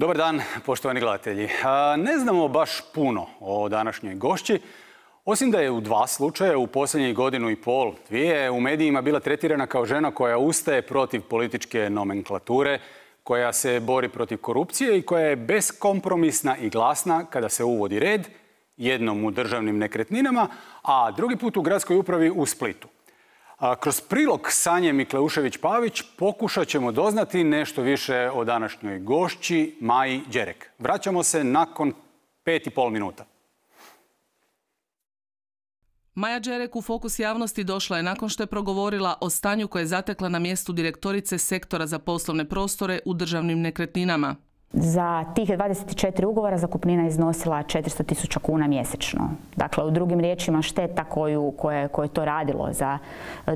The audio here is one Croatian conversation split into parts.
Dobar dan, poštovani gledatelji. Ne znamo baš puno o današnjoj gošći, osim da je u 2 slučaja u posljednjih 1,5 – 2 u medijima bila tretirana kao žena koja ustaje protiv političke nomenklature, koja se bori protiv korupcije i koja je beskompromisna i glasna kada se uvodi red, jednom u državnim nekretninama, a drugi put u gradskoj upravi u Splitu. Kroz prilog Sanje Mikleušević-Pavić pokušat ćemo doznati nešto više o današnjoj gošći Maji Đerek. Vraćamo se nakon 5,5 minuta. Maja Đerek u fokus javnosti došla je nakon što je progovorila o stanju koje je zatekla na mjestu direktorice sektora za poslovne prostore u državnim nekretninama. Za tih 24 ugovora zakupnina iznosila 400.000 kuna mjesečno. Dakle, u drugim riječima šteta koje je to radilo za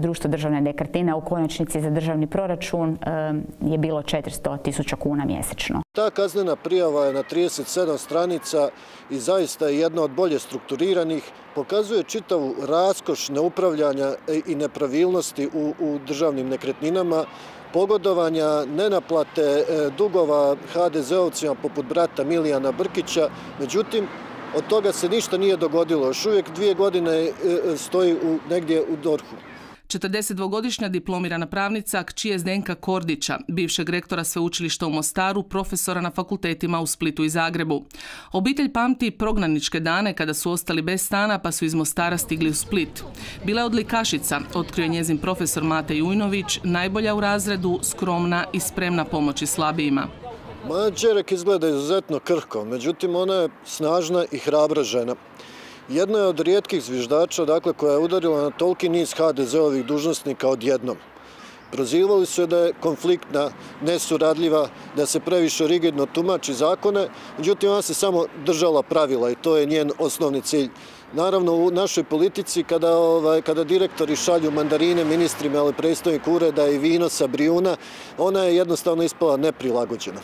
društvo državne nekretnine, u konačnici za državni proračun je bilo 400.000 kuna mjesečno. Ta kaznena prijava je na 37 stranica i zaista je jedna od bolje strukturiranih. Pokazuje čitavu raskoš neupravljanja i nepravilnosti u državnim nekretninama, pogodovanja, nenaplate dugova HDZ-ovcima poput brata Milijana Brkića. Međutim, od toga se ništa nije dogodilo. Još uvijek 2 godine stoji negdje u DORH-u. 42-godišnja diplomirana pravnica kći Zdenka Kordića, bivšeg rektora sveučilišta u Mostaru, profesora na fakultetima u Splitu i Zagrebu. Obitelj pamti prognaničke dane kada su ostali bez stana pa su iz Mostara stigli u Split. Bila je odlikašica, otkrio njezin profesor Mate Jujnović, najbolja u razredu, skromna i spremna pomoći slabijima. Maja Đerek izgleda izuzetno krhko, međutim ona je snažna i hrabra žena. Jedna je od rijetkih zviždača, koja je udarila na toliki niz HDZ-ovih dužnosnika odjednom. Prozivali su je da je konfliktna, nesuradljiva, da se previše rigidno tumači zakone, međutim ona se samo držala pravila i to je njen osnovni cilj. Naravno, u našoj politici, kada direktori šalju mandarine ministrima ili predstojnik ureda i vino sa Brijuna, ona je jednostavno ispala neprilagođena.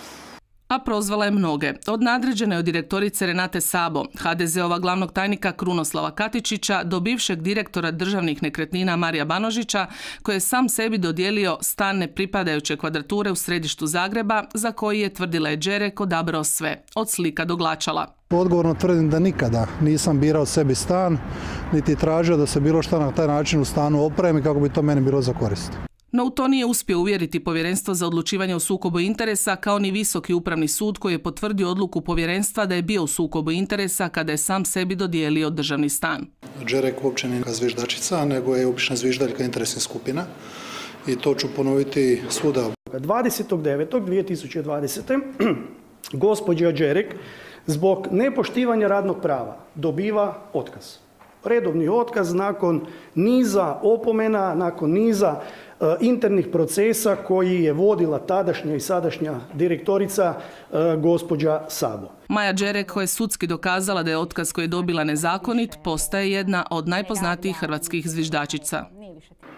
A prozvala je mnoge. Od nadređene od direktorice Renate Sabo, HDZ-ova glavnog tajnika Krunoslava Katičića, do bivšeg direktora državnih nekretnina Marija Banožića, koji je sam sebi dodijelio stan nepripadajuće kvadrature u središtu Zagreba, za koji je, tvrdila je Đerek, odabrao sve, od slika do glačala. Odgovorno tvrdim da nikada nisam birao sebi stan, niti tražio da se bilo što na taj način u stanu opremi kako bi to meni bilo za korist. No u to nije uspio uvjeriti Povjerenstvo za odlučivanje o sukobu interesa, kao ni Visoki upravni sud koji je potvrdio odluku povjerenstva da je bio u sukobu interesa kada je sam sebi dodijelio državni stan. Đerek uopće nije zviždačica, nego je obična zviždaljka interesnih skupina i to ću ponoviti svuda. 20.9.2020. gospođa Đerek zbog nepoštivanja radnog prava dobiva otkaz. Redovni otkaz nakon niza opomena, nakon niza internih procesa koji je vodila tadašnja i sadašnja direktorica gospođa Sabo. Maja Đerek, koja je sudski dokazala da je otkaz koji je dobila nezakonit, postaje jedna od najpoznatijih hrvatskih zviždačica.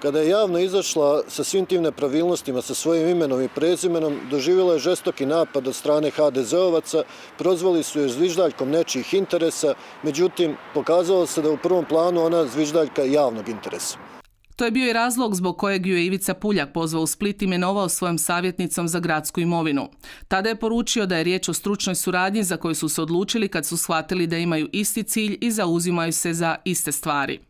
Kada je javno izašla sa svim tim nepravilnostima, sa svojim imenom i prezimenom, doživjela je žestoki napad od strane HDZ-ovaca, prozvali su je zviždaljkom nečijih interesa, međutim, pokazalo se da je u prvom planu ona zviždaljka javnog interesa. To je bio i razlog zbog kojeg ju je Ivica Puljak pozvao u Split i imenovao svojom savjetnicom za gradsku imovinu. Tada je poručio da je riječ o stručnoj suradnji za koju su se odlučili kad su shvatili da imaju isti cilj i zauzimaju se za iste stvari.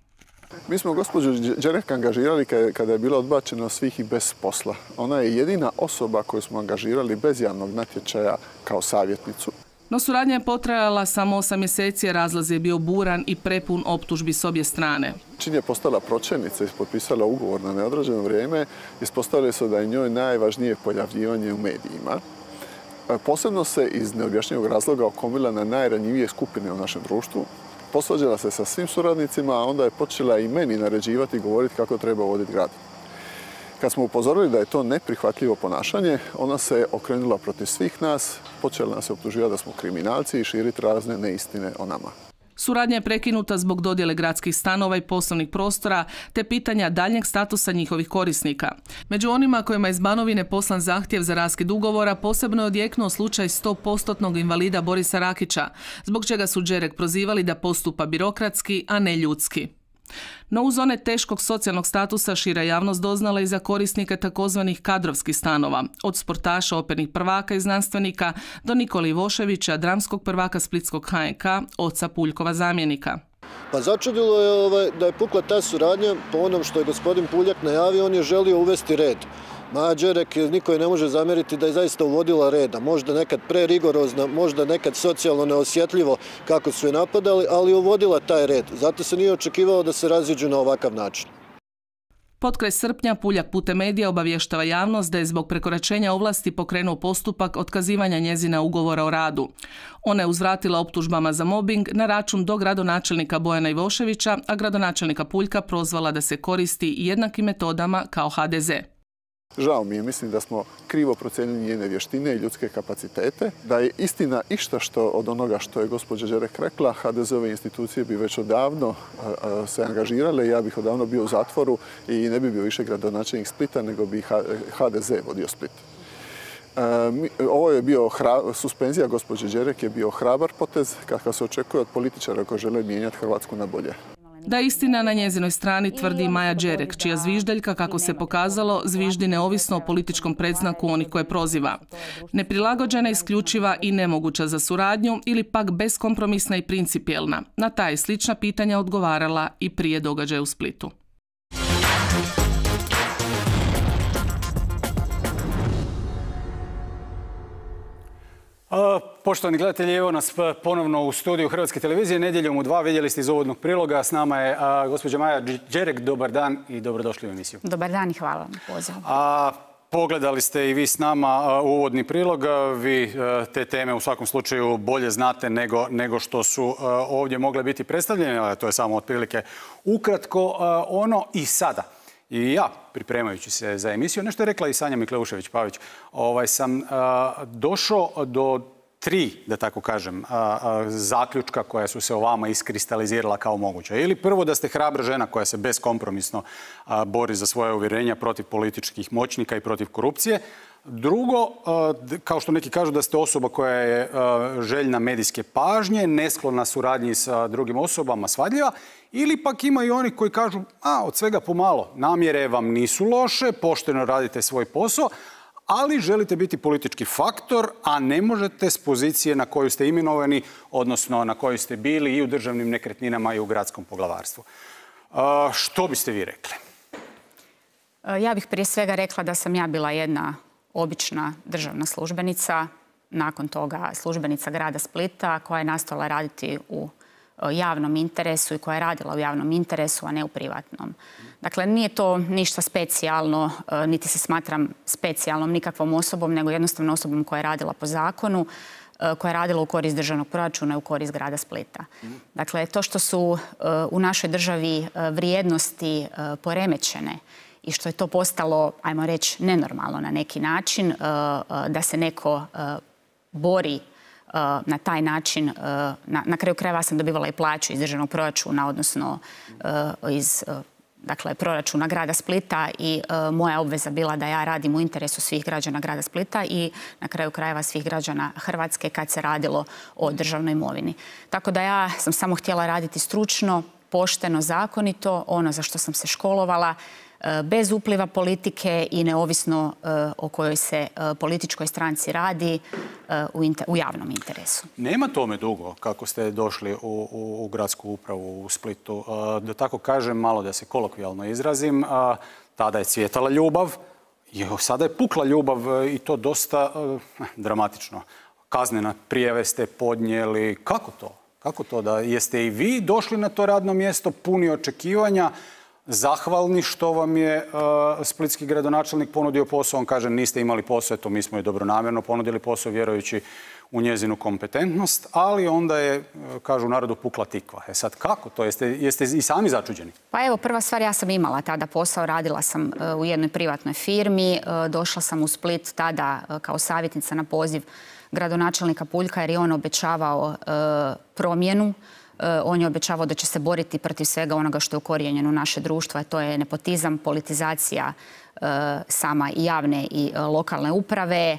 Mi smo gospođu Đerek angažirali kada je bila odbačena svih i bez posla. Ona je jedina osoba koju smo angažirali bez javnog natječaja kao savjetnicu. No suradnja je potrajala samo 8 mjeseci, a razlaz je bio buran i prepun optužbi s obje strane. Čim je postala pročelnica i potpisala ugovor na neodređeno vrijeme, ispostavili su da je njoj najvažnije pojavljivanje u medijima. Posebno se iz neobjašnjivog razloga okomila na najranjivije skupine u našem društvu. Posvađala se sa svim suradnicima, a onda je počela i meni naređivati i govoriti kako treba voditi grad. Kad smo upozorili da je to neprihvatljivo ponašanje, ona se okrenula protiv svih nas, počela nas optuživati da smo kriminalci i širiti razne neistine o nama. Suradnja je prekinuta zbog dodjele gradskih stanova i poslovnih prostora te pitanja daljnjeg statusa njihovih korisnika. Među onima kojima je iz Banovine poslan zahtjev za raskid ugovora posebno je odjeknuo slučaj 100% invalida Borisa Rakića, zbog čega su Đerek prozivali da postupa birokratski, a ne ljudski. No uz one teškog socijalnog statusa šira javnost doznala i za korisnike takozvanih kadrovskih stanova, od sportaša, opernih prvaka i znanstvenika do Nikole Ivoševića, dramskog prvaka splitskog HNK, oca Puljkova zamjenika. Pa začudilo je da je pukla ta suradnja. Po onom što je gospodin Puljak najavio, on je želio uvesti red. Maja Đerek, niko je ne može zamjeriti da je zaista uvodila reda. Možda nekad prerigorozno, možda nekad socijalno neosjetljivo kako su je napadali, ali uvodila taj red. Zato se nije očekivalo da se raziđu na ovakav način. Potkraj srpnja Puljak putem medija obavještava javnost da je zbog prekoračenja ovlasti pokrenuo postupak otkazivanja njezina ugovora o radu. Ona je uzvratila optužbama za mobing na račun dogradonačelnika Bojana Ivoševića, a gradonačelnika Puljka prozvala da se koristi jednakim metodama kao HDZ. Žao mi je, mislim da smo krivo procijenili njene vještine i ljudske kapacitete. Da je istina išta što od onoga što je gospođa Đerek rekla, HDZ-ove institucije bi već odavno se angažirale. Ja bih odavno bio u zatvoru i ne bi bio više gradonačelnik Splita, nego bi HDZ vodio Split. Ovo je bio suspenzija gospođe Đerek je bio hrabar potez kakav se očekuje od političara koji žele mijenjati Hrvatsku na bolje. Da je istina na njezinoj strani, tvrdi Maja Đerek, čija zviždaljka, kako se pokazalo, zviždi neovisno o političkom predznaku onih koje proziva. Neprilagođena, isključiva i nemoguća za suradnju ili pak beskompromisna i principijelna. Na ta je slična pitanja odgovarala i prije događaja u Splitu. Poštovani gledatelji, evo nas ponovno u studiju Hrvatske televizije. Nedjeljom u 2 vidjeli ste iz uvodnog priloga. S nama je gospođa Maja Đerek. Dobar dan i dobrodošli u emisiju. Dobar dan i hvala na pozivu. Pogledali ste i vi s nama uvodni prilog. Vi te teme u svakom slučaju bolje znate nego što su ovdje mogle biti predstavljene. To je samo otprilike ukratko ono i sada. I ja, pripremajući se za emisiju, nešto je rekla i Sanja Mikleušević-Pavić, sam došao do 3, da tako kažem, zaključka koja su se o vama iskristalizirala kao moguća. Ili prvo da ste hrabra žena koja se beskompromisno bori za svoje uvjerenja protiv političkih moćnika i protiv korupcije. Drugo, kao što neki kažu da ste osoba koja je željna medijske pažnje, nesklona suradnji sa drugim osobama, svadljiva. Ili pak ima i oni koji kažu, od svega pomalo, namjere vam nisu loše, pošteno radite svoj posao, ali želite biti politički faktor, a ne možete s pozicije na koju ste imenovani, odnosno na kojoj ste bili i u državnim nekretninama i u gradskom poglavarstvu. Što biste vi rekli? Ja bih prije svega rekla da sam ja bila jedna obična državna službenica, nakon toga službenica grada Splita koja je nastavila raditi u javnom interesu i koja je radila u javnom interesu, a ne u privatnom. Dakle, nije to ništa specijalno, niti se smatram specijalnom nikakvom osobom, nego jednostavno osobom koja je radila po zakonu, koja je radila u korist državnog proračuna i u korist grada Splita. Dakle, to što su u našoj državi vrijednosti poremećene i što je to postalo, ajmo reći, nenormalno na neki način, da se neko bori na taj način. Na kraju krajeva sam dobivala i plaću iz državnog proračuna, odnosno iz proračuna grada Splita i moja obveza bila da ja radim u interesu svih građana grada Splita i na kraju krajeva svih građana Hrvatske kad se radilo o državnoj imovini. Tako da ja sam samo htjela raditi stručno, pošteno, zakonito, ono za što sam se školovala, bez upliva politike i neovisno o kojoj se političkoj stranci radi u javnom interesu. Nema tome dugo kako ste došli u gradsku upravu u Splitu. Da tako kažem, malo da se kolokvijalno izrazim, tada je cvjetala ljubav, sada je pukla ljubav i to dosta dramatično. Kaznene prijave ste podnijeli. Kako to? Kako to da jeste i vi došli na to radno mjesto puni očekivanja, zahvalni što vam je splitski gradonačelnik ponudio posao? On kaže niste imali posao, eto mi smo je dobronamjerno ponudili posao vjerujući u njezinu kompetentnost, ali onda je, kažu u narodu, pukla tikva. Sad kako to? Jeste i sami začuđeni? Pa evo, prva stvar, ja sam imala tada posao, radila sam u jednoj privatnoj firmi, došla sam u Split tada kao savjetnica na poziv gradonačelnika Puljka jer je on obećavao promjenu On je obećavao da će se boriti protiv svega onoga što je ukorijenjeno u naše društvo, a to je nepotizam, politizacija sama i javne i lokalne uprave,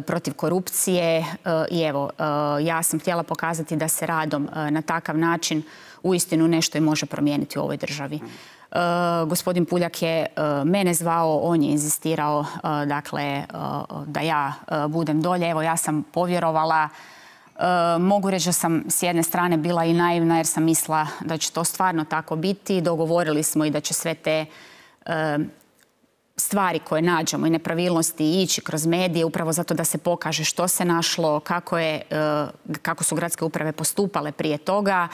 protiv korupcije. I evo, ja sam htjela pokazati da se radom na takav način uistinu nešto i može promijeniti u ovoj državi. Gospodin Puljak je mene zvao, on je inzistirao dakle, da ja budem dolje. Evo, ja sam povjerovala. Mogu reći da sam s jedne strane bila i naivna jer sam mislila da će to stvarno tako biti. Dogovorili smo i da će sve te stvari koje nađemo i nepravilnosti ići kroz medije upravo zato da se pokaže što se našlo, kako su gradske uprave postupale prije toga.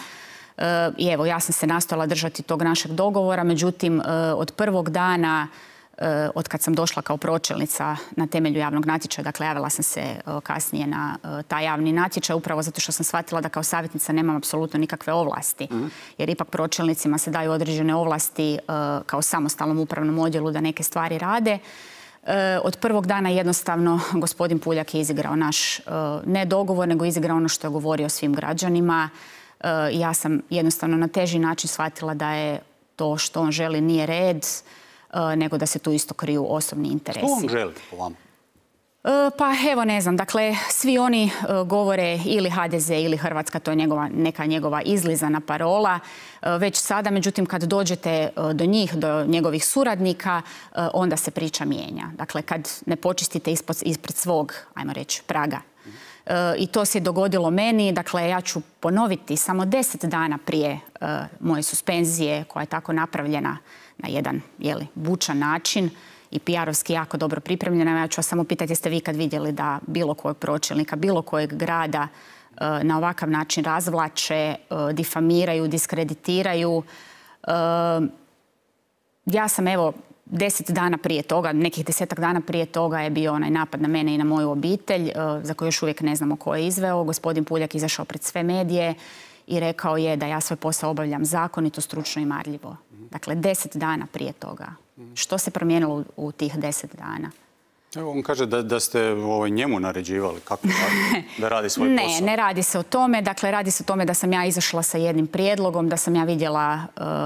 I evo, ja sam se nastojala držati tog našeg dogovora, međutim, od prvog dana, od kad sam došla kao pročelnica na temelju javnog natječaja, dakle, javila sam se kasnije na taj javni natječaj, upravo zato što sam shvatila da kao savjetnica nemam apsolutno nikakve ovlasti. Jer ipak pročelnicima se daju određene ovlasti kao samostalnom upravnom odjelu da neke stvari rade. Od prvog dana jednostavno gospodin Puljak je izigrao naš ne dogovor, nego izigrao ono što je govorio svim građanima. Ja sam jednostavno na teži način shvatila da je to što on želi nije red, nego da se tu isto kriju osobni interesi. Što on želi po vama? Pa evo, ne znam, dakle, svi oni govore ili HDZ ili Hrvatska, to je neka njegova izlizana parola. Već sada, međutim, kad dođete do njih, do njegovih suradnika, onda se priča mijenja. Dakle, kad ne počistite ispred svog, ajmo reći, praga. I to se dogodilo meni. Dakle, ja ću ponoviti samo 10 dana prije moje suspenzije, koja je tako napravljena na jedan bučan način i PR-ovski jako dobro pripremljena. Ja ću vas samo pitati, jeste vi kad vidjeli da bilo kojeg pročelnika, bilo kojeg grada na ovakav način razvlače, difamiraju, diskreditiraju. Ja sam, evo, 10 dana prije toga, nekih 10-ak dana prije toga je bio onaj napad na mene i na moju obitelj, za koju još uvijek ne znamo ko je izveo. Gospodin Puljak izašao pred sve medije i rekao je da ja svoj posao obavljam zakonito, stručno i marljivo. Dakle, 10 dana prije toga. Što se promijenilo u tih 10 dana? Evo, on kaže da ste njemu naređivali kako da radi svoj posao. Ne radi se o tome. Dakle, radi se o tome da sam ja izašla sa jednim prijedlogom, da sam ja vidjela,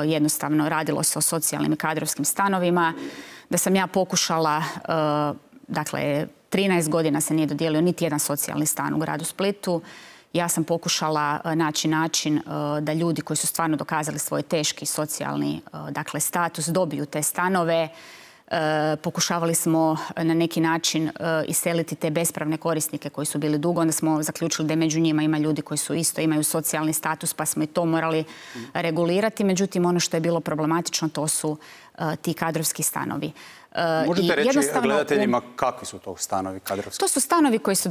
jednostavno radilo se o socijalnim i kadrovskim stanovima, da sam ja pokušala, dakle, 13 godina se nije dodijelio niti jedan socijalni stan u gradu Splitu. Ja sam pokušala naći način da ljudi koji su stvarno dokazali svoj teški socijalni, dakle, status dobiju te stanove. Pokušavali smo na neki način iseliti te bespravne korisnike koji su bili dugo. Onda smo zaključili da među njima ima ljudi koji su isto imaju socijalni status, pa smo i to morali regulirati. Međutim, ono što je bilo problematično, to su ti kadrovski stanovi. Možete reći gledateljima kakvi su to stanovi kadrovski? To su stanovi koji se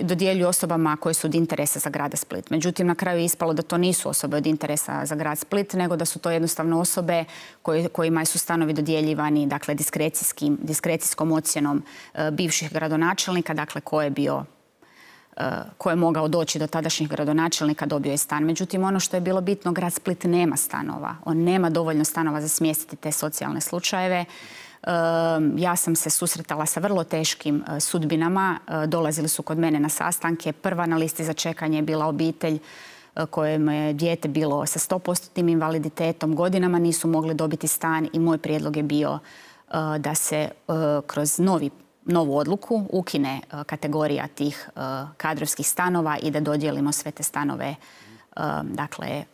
dodjeljuju osobama koje su od interesa za grada Split. Međutim, na kraju je ispalo da to nisu osobe od interesa za grad Split, nego da su to jednostavno osobe kojima su stanovi dodjeljivani, dakle, diskrecijskom ocjenom bivših gradonačelnika, dakle, ko je mogao doći do tadašnjih gradonačelnika, dobio je stan. Međutim, ono što je bilo bitno, grad Split nema stanova. On nema dovoljno stanova za smjestiti te socijalne slučajeve. Ja sam se susretala sa vrlo teškim sudbinama. Dolazili su kod mene na sastanke. Prva na listi za čekanje je bila obitelj kojem je dijete bilo sa 100% invaliditetom. Godinama nisu mogli dobiti stan i moj prijedlog je bio da se kroz novu odluku ukine kategorija tih kadrovskih stanova i da dodijelimo sve te stanove, dakle,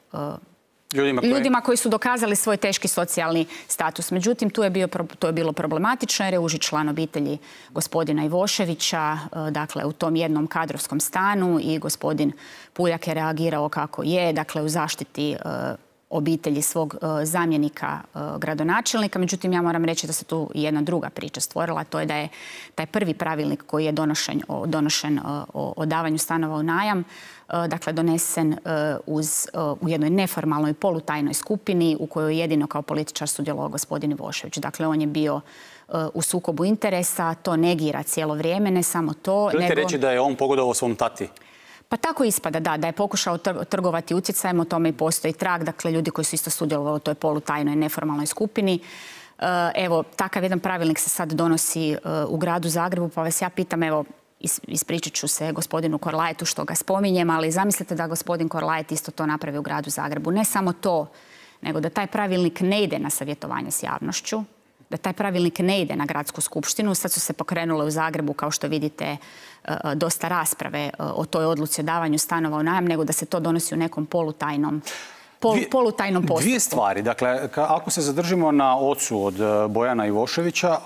ljudima koji su dokazali svoj teški socijalni status. Međutim, to je bilo problematično jer je uži član obitelji gospodina Ivoševića, dakle, u tom jednom kadrovskom stanu i gospodin Puljak je reagirao kako je, dakle, u zaštiti obitelji svog zamjenika gradonačelnika. Međutim, ja moram reći da se tu jedna druga priča stvorila. To je da je taj prvi pravilnik koji je donošen o davanju stanova u najam, dakle, donesen u jednoj neformalnoj polutajnoj skupini u kojoj jedino kao političar sudjelovao gospodin Ivošević. Dakle, on je bio u sukobu interesa, to negira cijelo vrijeme, ne samo to. Želite reći da je on pogodovao svom tati? Pa tako ispada, da je pokušao trgovati utjecajem, o tome i postoji trag, dakle, ljudi koji su isto sudjelovali u toj polutajnoj neformalnoj skupini. Evo, takav jedan pravilnik se sad donosi u gradu Zagrebu, pa vas ja pitam, evo, ispričat ću se gospodinu Korlajetu što ga spominjem, ali zamislite da gospodin Korlajet isto to napravi u gradu Zagrebu. Ne samo to, nego da taj pravilnik ne ide na savjetovanje s javnošću, da taj pravilnik ne ide na gradsku skupštinu. Sad su se pokrenule u Zagrebu, kao što vidite, dosta rasprave o toj odluci o davanju stanova u najam, nego da se to donosi u nekom polutajnom postupku. Dvije stvari. Dakle, ako se zadržimo na ocu od Bojana Ivoševića,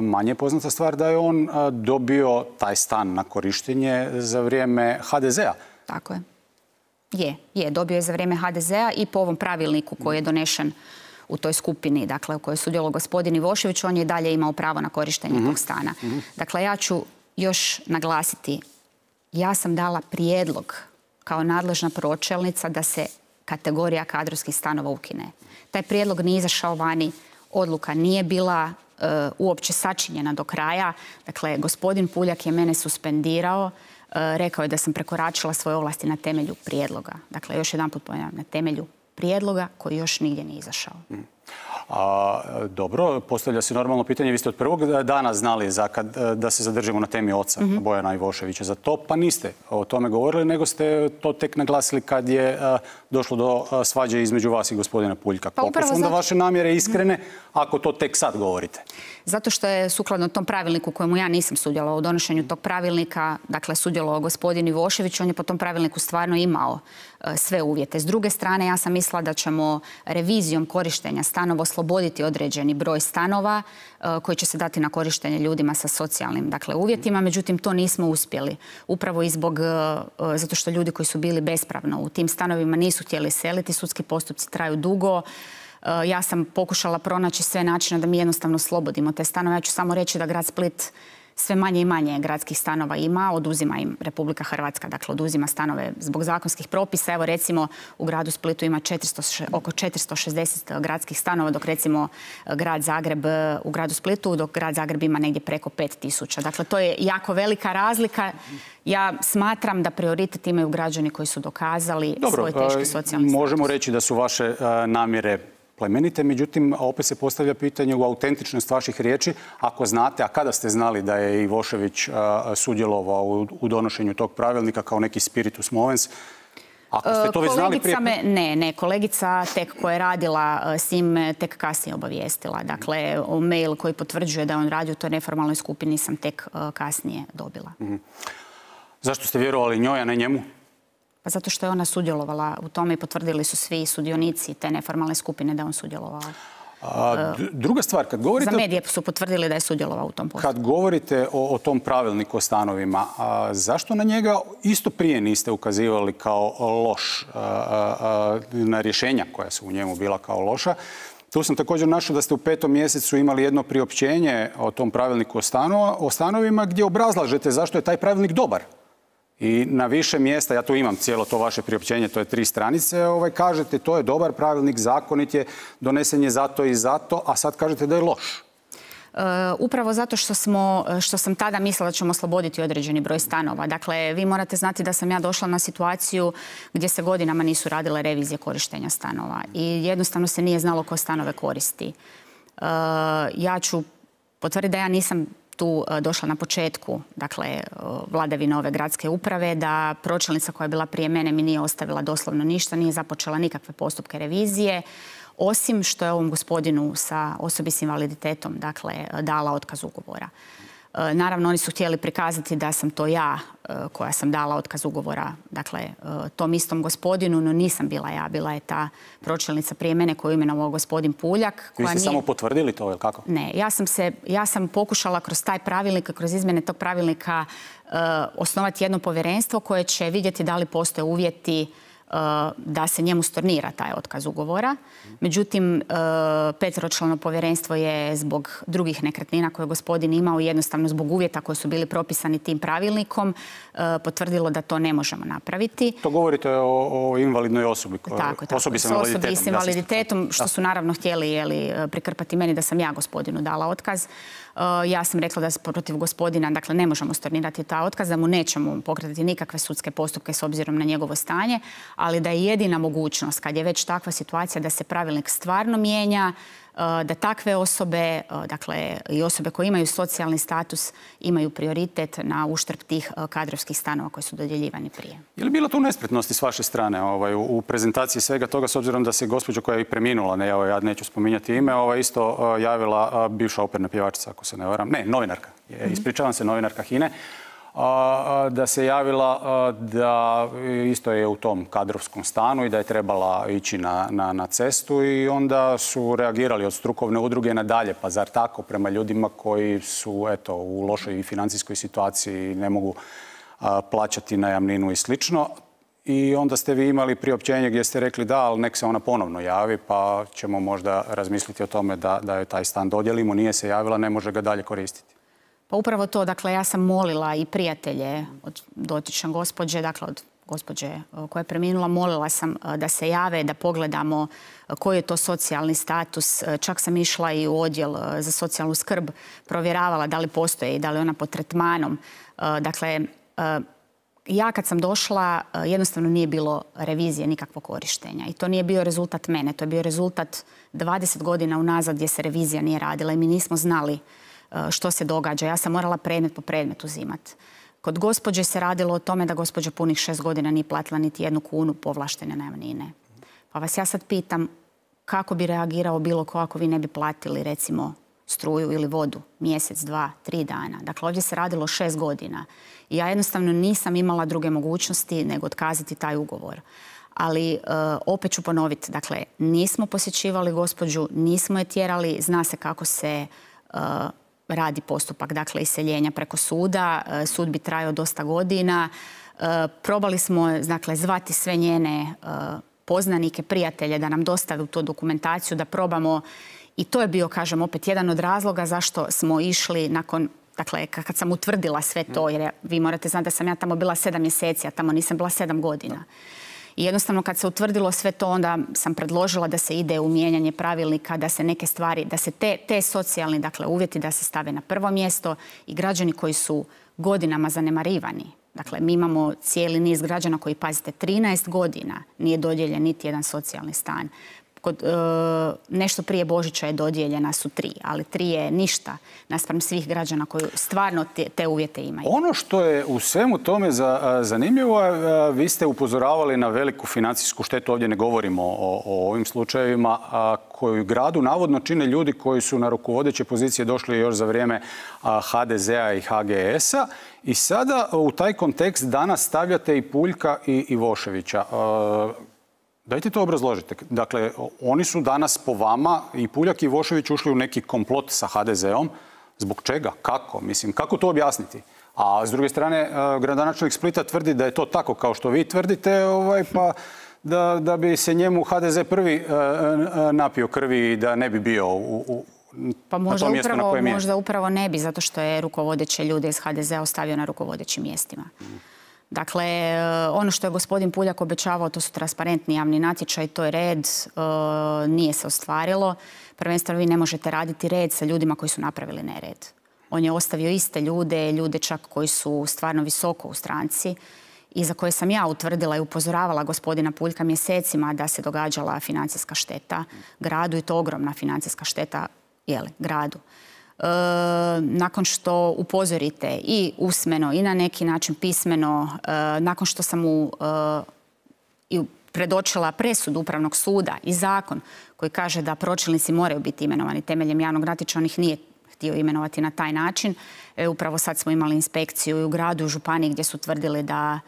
manje je poznata stvar da je on dobio taj stan na korištenje za vrijeme HDZ-a. Tako je. Dobio je za vrijeme HDZ-a i po ovom pravilniku koji je donešen u toj skupini, dakle, u kojoj je sudjelovao gospodin Ivošević, on je dalje imao pravo na korištenje tog stana. Dakle, ja ću još naglasiti, ja sam dala prijedlog kao nadležna pročelnica da se kategorija kadrovskih stanova ukine. Taj prijedlog nije izašao vani, odluka nije bila uopće sačinjena do kraja. Dakle, gospodin Puljak je mene suspendirao, rekao je da sam prekoračila svoje ovlasti na temelju prijedloga. Dakle, još jedanput ponavljam, na temelju prijedloga koji još nigdje nije izašao. Dobro, postavlja se normalno pitanje. Vi ste od prvog dana znali da se zadržimo na temi oca Bojana Ivoševića za to, pa niste o tome govorili, nego ste to tek naglasili kad je došlo do svađe između vas i gospodina Puljka. Koliko su onda vaše namjere iskrene ako to tek sad govorite? Zato što je sukladno tom pravilniku kojemu ja nisam sudjelovala u donošenju tog pravilnika, dakle sudjelovao gospodin Ivošević, on je po tom pravilniku stvarno imao sve uvjete. S druge strane, ja sam mislila da ćemo revizijom korištenja stanova osloboditi određeni broj stanova koji će se dati na korištenje ljudima sa socijalnim uvjetima, međutim to nismo uspjeli. Upravo i zato što ljudi koji su bili bespravno u tim stanovima nisu htjeli seliti, sudski postupci traju dugo. Ja sam pokušala pronaći sve načine da mi jednostavno oslobodimo te stanove. Ja ću samo reći da grad Split sve manje i manje gradskih stanova ima, oduzima im Republika Hrvatska, dakle oduzima stanove zbog zakonskih propisa. Evo recimo u gradu Splitu ima oko 460 gradskih stanova, dok recimo grad Zagreb u gradu Splitu, dok grad Zagreb ima negdje preko 5000. Dakle, to je jako velika razlika. Ja smatram da prioritet imaju građani koji su dokazali svoj teški socijalni status. Možemo reći da su vaše namjere plemenite, međutim, opet se postavlja pitanje u autentičnost vaših riječi. Ako znate, a kada ste znali da je Ivošević sudjelovao u donošenju tog pravilnika kao neki spiritus movens, ako ste to već znali prije... Ne, kolegica tek koja je radila s njim tek kasnije obavijestila. Dakle, mail koji potvrđuje da on radi u toj neformalnoj skupini sam tek kasnije dobila. Zašto ste vjerovali njoj, a ne njemu? Pa zato što je ona sudjelovala u tome i potvrdili su svi sudionici te neformalne skupine da je on sudjelovao. Druga stvar, kad govorite... Za medije su potvrdili da je sudjelovao u tom postupku. Kad govorite o tom pravilniku o stanovima, zašto na njega isto prije niste ukazivali kao loš, na rješenja koja su u njemu bila kao loša? Tu sam također našao da ste u 5. mjesecu imali jedno priopćenje o tom pravilniku o stanovima gdje obrazlažete zašto je taj pravilnik dobar. I na više mjesta, ja tu imam cijelo to vaše priopćenje, to je 3 stranice, kažete to je dobar pravilnik, zakonit je, donesen je zato i zato, a sad kažete da je loš. Upravo zato što sam tada mislila da ćemo osloboditi određeni broj stanova. Dakle, vi morate znati da sam ja došla na situaciju gdje se godinama nisu radile revizije korištenja stanova i jednostavno se nije znalo ko stanove koristi. Ja ću potvrditi da ja nisam tu došla na početku, dakle, vladavine ove gradske uprave, da pročelnica koja je bila prije mene mi nije ostavila doslovno ništa, nije započela nikakve postupke revizije, osim što je ovom gospodinu sa osobi s invaliditetom, dakle, dala otkaz ugovora. Naravno, oni su htjeli prikazati da sam to ja koja sam dala otkaz ugovora, dakle, tom istom gospodinu, no nisam bila ja, bila je ta pročelnica prije mene koju je imenovao gospodin Puljak. Vi ste samo potvrdili to, ili kako? Ne, ja sam pokušala kroz taj pravilnik, kroz izmjene tog pravilnika osnovati jedno povjerenstvo koje će vidjeti da li postoje uvjeti da se njemu stornira taj otkaz ugovora. Međutim, 5-člano povjerenstvo je zbog drugih nekretnina koje je gospodin imao, jednostavno zbog uvjeta koji su bili propisani tim pravilnikom, potvrdilo da to ne možemo napraviti. To govorite o invalidnoj osobi? Tako, osobi s invaliditetom, što su naravno htjeli prikrpati meni da sam ja gospodinu dala otkaz. Ja sam rekla da protiv gospodina, dakle, ne možemo stornirati ta otkaz, da mu nećemo pokretati nikakve sudske postupke s obzirom na njegovo stanje, ali da je jedina mogućnost, kad je već takva situacija, da se pravilnik stvarno mijenja, da takve osobe, dakle i osobe koje imaju socijalni status, imaju prioritet na uštrb tih kadrovskih stanova koji su dodjeljivani prije. Je li bilo tu nespretnosti s vaše strane u prezentaciji svega toga, s obzirom da se gospođa koja je i preminula, ja neću spominjati ime, isto javila bivša operna pjevačica, ako se ne varam, ne, novinarka, ispričavam se, novinarka HINA-e, da se javila da isto je u tom kadrovskom stanu i da je trebala ići na cestu i onda su reagirali od strukovne udruge nadalje. Pa zar tako prema ljudima koji su u lošoj financijskoj situaciji, ne mogu plaćati najamninu i slično. I onda ste vi imali priopćenje gdje ste rekli da, ali nek se ona ponovno javi pa ćemo možda razmisliti o tome da joj taj stan dodijelimo. Nije se javila, ne može ga dalje koristiti. Pa upravo to, dakle, ja sam molila i prijatelje od dotične gospođe, dakle od gospođe koja je preminula, molila sam da se jave, da pogledamo koji je to socijalni status. Čak sam išla i u odjel za socijalnu skrb, provjeravala da li postoji i da li je ona pod tretmanom. Dakle, ja kad sam došla, jednostavno nije bilo revizije nikakvog korištenja. I to nije bio rezultat mene, to je bio rezultat 20 godina unazad gdje se revizija nije radila i mi nismo znali što se događa. Ja sam morala predmet po predmet uzimati. Kod gospođe se radilo o tome da gospođa punih 6 godina nije platila niti 1 kunu povlaštene najamnine. Pa vas ja sad pitam kako bi reagirao bilo ko ako vi ne bi platili recimo struju ili vodu mjesec, 2, 3 dana. Dakle, ovdje se radilo 6 godina. I ja jednostavno nisam imala druge mogućnosti nego otkazati taj ugovor. Ali opet ću ponoviti, dakle, nismo posjećivali gospođu, nismo je tjerali, zna se kako se radi postupak, dakle, iseljenja preko suda. Sud bi trajao dosta godina. Probali smo, dakle, zvati sve njene poznanike, prijatelje da nam dostave tu dokumentaciju, da probamo. I to je bio, kažem, opet jedan od razloga zašto smo išli nakon, dakle, kad sam utvrdila sve to, jer vi morate znati da sam ja tamo bila 7 mjeseci, a tamo nisam bila 7 godina. I jednostavno kad se utvrdilo sve to, onda sam predložila da se ide u mijenjanje pravilnika, da se neke stvari, da se te socijalni, dakle, uvjeti da se stave na prvo mjesto i građani koji su godinama zanemarivani. Dakle, mi imamo cijeli niz građana koji, pazite, 13 godina nije dodijeljen niti jedan socijalni stan. Nešto prije Božića je dodijeljena su 3, ali 3 je ništa naspram svih građana koji stvarno te uvjete imaju. Ono što je u svemu tome zanimljivo, vi ste upozoravali na veliku financijsku štetu, ovdje ne govorimo o ovim slučajevima, koju gradu navodno čine ljudi koji su na rukovodeće pozicije došli još za vrijeme HDZ-a i HGS-a. I sada u taj kontekst danas stavljate i Puljka i Ivoševića. Dajte to obrazložite. Dakle, oni su danas po vama, i Puljak i Ivošević, ušli u neki komplot sa HDZ-om. Zbog čega? Kako? Mislim, kako to objasniti? A s druge strane, gradonačelnik Splita tvrdi da je to tako kao što vi tvrdite, pa da bi se njemu HDZ prvi napio krvi i da ne bi bio pa možda upravo ne bi, zato što je rukovodeće ljude iz HDZ-a ostavio na rukovodećim mjestima. Dakle, ono što je gospodin Puljak obećavao, to su transparentni javni natječaj, to je red, nije se ostvarilo. Prvenstveno vi ne možete raditi red sa ljudima koji su napravili nered. On je ostavio iste ljude čak koji su stvarno visoko u stranci i za koje sam ja utvrdila i upozoravala gospodina Puljka mjesecima da se događala financijska šteta gradu i to ogromna financijska šteta gradu. Nakon što upozorite i usmeno i na neki način pismeno, nakon što sam mu predočila presudu Upravnog suda i zakon koji kaže da pročelnici moraju biti imenovani temeljem javnog natječaja, on ih nije htio imenovati na taj način. Upravo sad smo imali inspekciju i u gradu i u županiji gdje su tvrdili da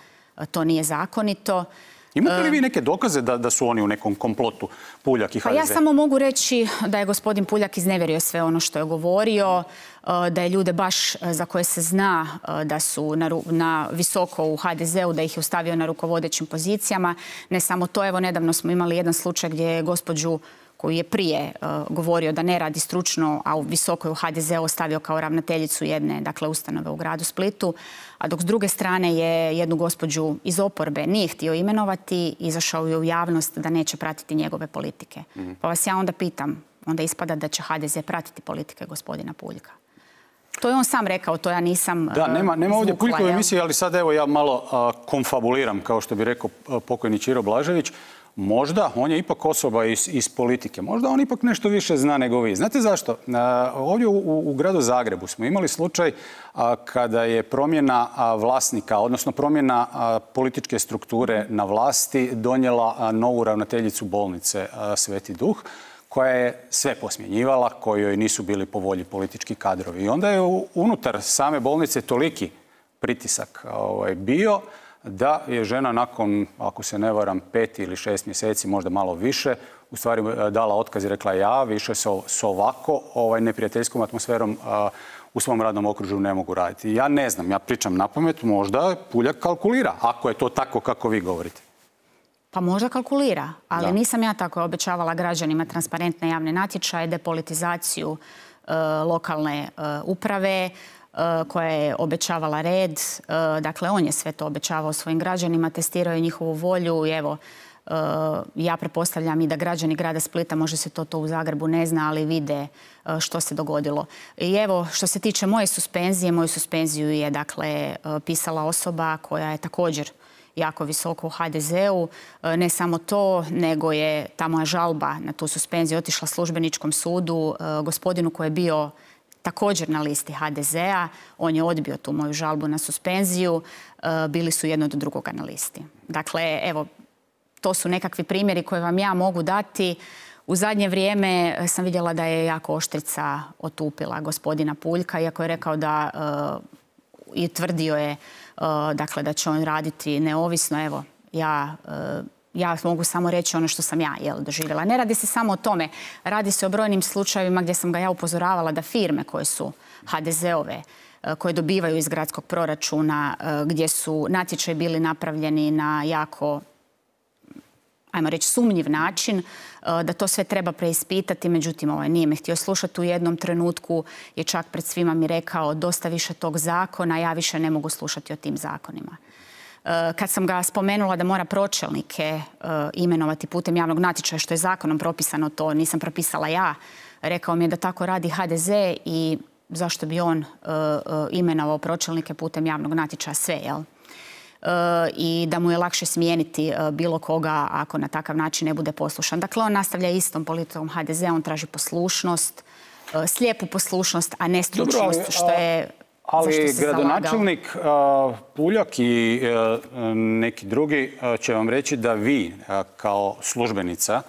to nije zakonito. Imate li vi neke dokaze da su oni u nekom komplotu, Puljak i HDZ? Pa ja samo mogu reći da je gospodin Puljak iznevjerio sve ono što je govorio, da je ljude baš za koje se zna da su na visoko u HDZ-u, da ih je ostavio na rukovodećim pozicijama. Ne samo to, evo nedavno smo imali jedan slučaj gdje je gospođu koju je prije govorio da ne radi stručno, a u visokoj u HDZ-u ostavio kao ravnateljicu jedne, dakle, ustanove u gradu Splitu, a dok s druge strane je jednu gospođu iz oporbe nije htio imenovati, izašao je u javnost da neće pratiti njegove politike. Pa vas ja onda pitam, onda ispada da će HDZ pratiti politike gospodina Puljka. To je on sam rekao, to ja nisam Da, nema ovdje izvukla, Puljkove emisije, ali sad evo ja malo konfabuliram, kao što bi rekao pokojni Ćiro Blažević. Možda, on je ipak osoba iz politike, možda on ipak nešto više zna nego vi. Znate zašto? Ovdje u gradu Zagrebu smo imali slučaj kada je promjena vlasnika, odnosno promjena političke strukture na vlasti donijela novu ravnateljicu bolnice Sveti Duh, koja je sve posmjenjivala, kojoj nisu bili po volji politički kadrovi. I onda je unutar same bolnice toliki pritisak bio da je žena nakon, ako se ne varam, 5 ili 6 mjeseci, možda malo više, u stvari dala otkaz i rekla ja više s ovako neprijateljskom atmosferom u svom radnom okružju ne mogu raditi. Ja ne znam, ja pričam napamet, možda Puljak kalkulira, ako je to tako kako vi govorite. Pa možda kalkulira, ali nisam ja tako obećavala građanima transparentne javne natječaje, depolitizaciju lokalne uprave, koja je obećavala red. Dakle, on je sve to obećavao svojim građanima, testirao je njihovu volju i evo, ja pretpostavljam i da građani grada Splita, možda se to u Zagrebu ne zna, ali vide što se dogodilo. I evo, što se tiče moje suspenzije, moju suspenziju je dakle pisala osoba koja je također jako visoko u HDZ-u. Ne samo to, nego je ta moja žalba na tu suspenziju otišla službeničkom sudu, gospodinu koji je bio također na listi HDZ-a. On je odbio tu moju žalbu na suspenziju. Bili su jedno do drugoga na listi. Dakle, evo, to su nekakvi primjeri koje vam ja mogu dati. U zadnje vrijeme sam vidjela da je jako oštrica otupila gospodina Puljka, iako je rekao da i tvrdio je dakle, da će on raditi neovisno. Evo, ja mogu samo reći ono što sam ja doživjela. Ne radi se samo o tome. Radi se o brojnim slučajevima gdje sam ga ja upozoravala da firme koje su HDZ-ove, koje dobivaju iz gradskog proračuna, gdje su natječaji bili napravljeni na jako, ajmo reći, sumnjiv način, da to sve treba preispitati. Međutim, nije me htio slušati. U jednom trenutku je čak pred svima mi rekao dosta više tog zakona, ja više ne mogu slušati o tim zakonima. Kad sam ga spomenula da mora pročelnike imenovati putem javnog natječaja, što je zakonom propisano, to nisam propisala ja, rekao mi je da tako radi HDZ i zašto bi on imenovao pročelnike putem javnog natječaja sve, jel? I da mu je lakše smijeniti bilo koga ako na takav način ne bude poslušan. Dakle, on nastavlja istom politikom HDZ-a, on traži poslušnost, slijepu poslušnost, a ne stručnost, što je... Ali gradonačelnik Puljak i neki drugi će vam reći da vi kao službenica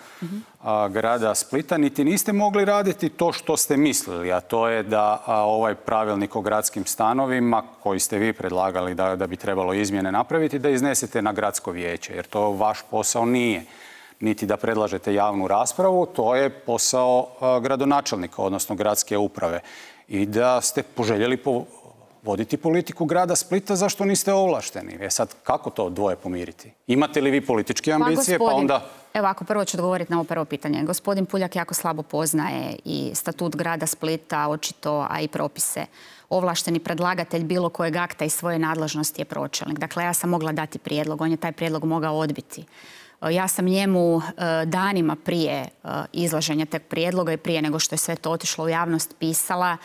grada Splita niti niste mogli raditi to što ste mislili, a to je da ovaj pravilnik o gradskim stanovima koji ste vi predlagali da bi trebalo izmjene napraviti, da iznesete na gradsko vijeće, jer to vaš posao nije. Niti da predlažete javnu raspravu, to je posao gradonačelnika, odnosno gradske uprave. I da ste poželjeli voditi politiku grada Splita, zašto niste ovlašteni? Sad, kako to dvoje pomiriti? Imate li vi političke ambicije, pa onda... Evo, ako prvo ću odgovoriti na ovo prvo pitanje. Gospodin Puljak jako slabo poznaje i statut grada Splita, očito, a i propise. Ovlašteni predlagatelj bilo kojeg akta iz svoje nadležnosti je pročelnik. Dakle, ja sam mogla dati prijedlog, on je taj prijedlog mogao odbiti. Ja sam njemu danima prije izlaženja tog prijedloga i prije nego što je sve to otišlo u javnost pisala,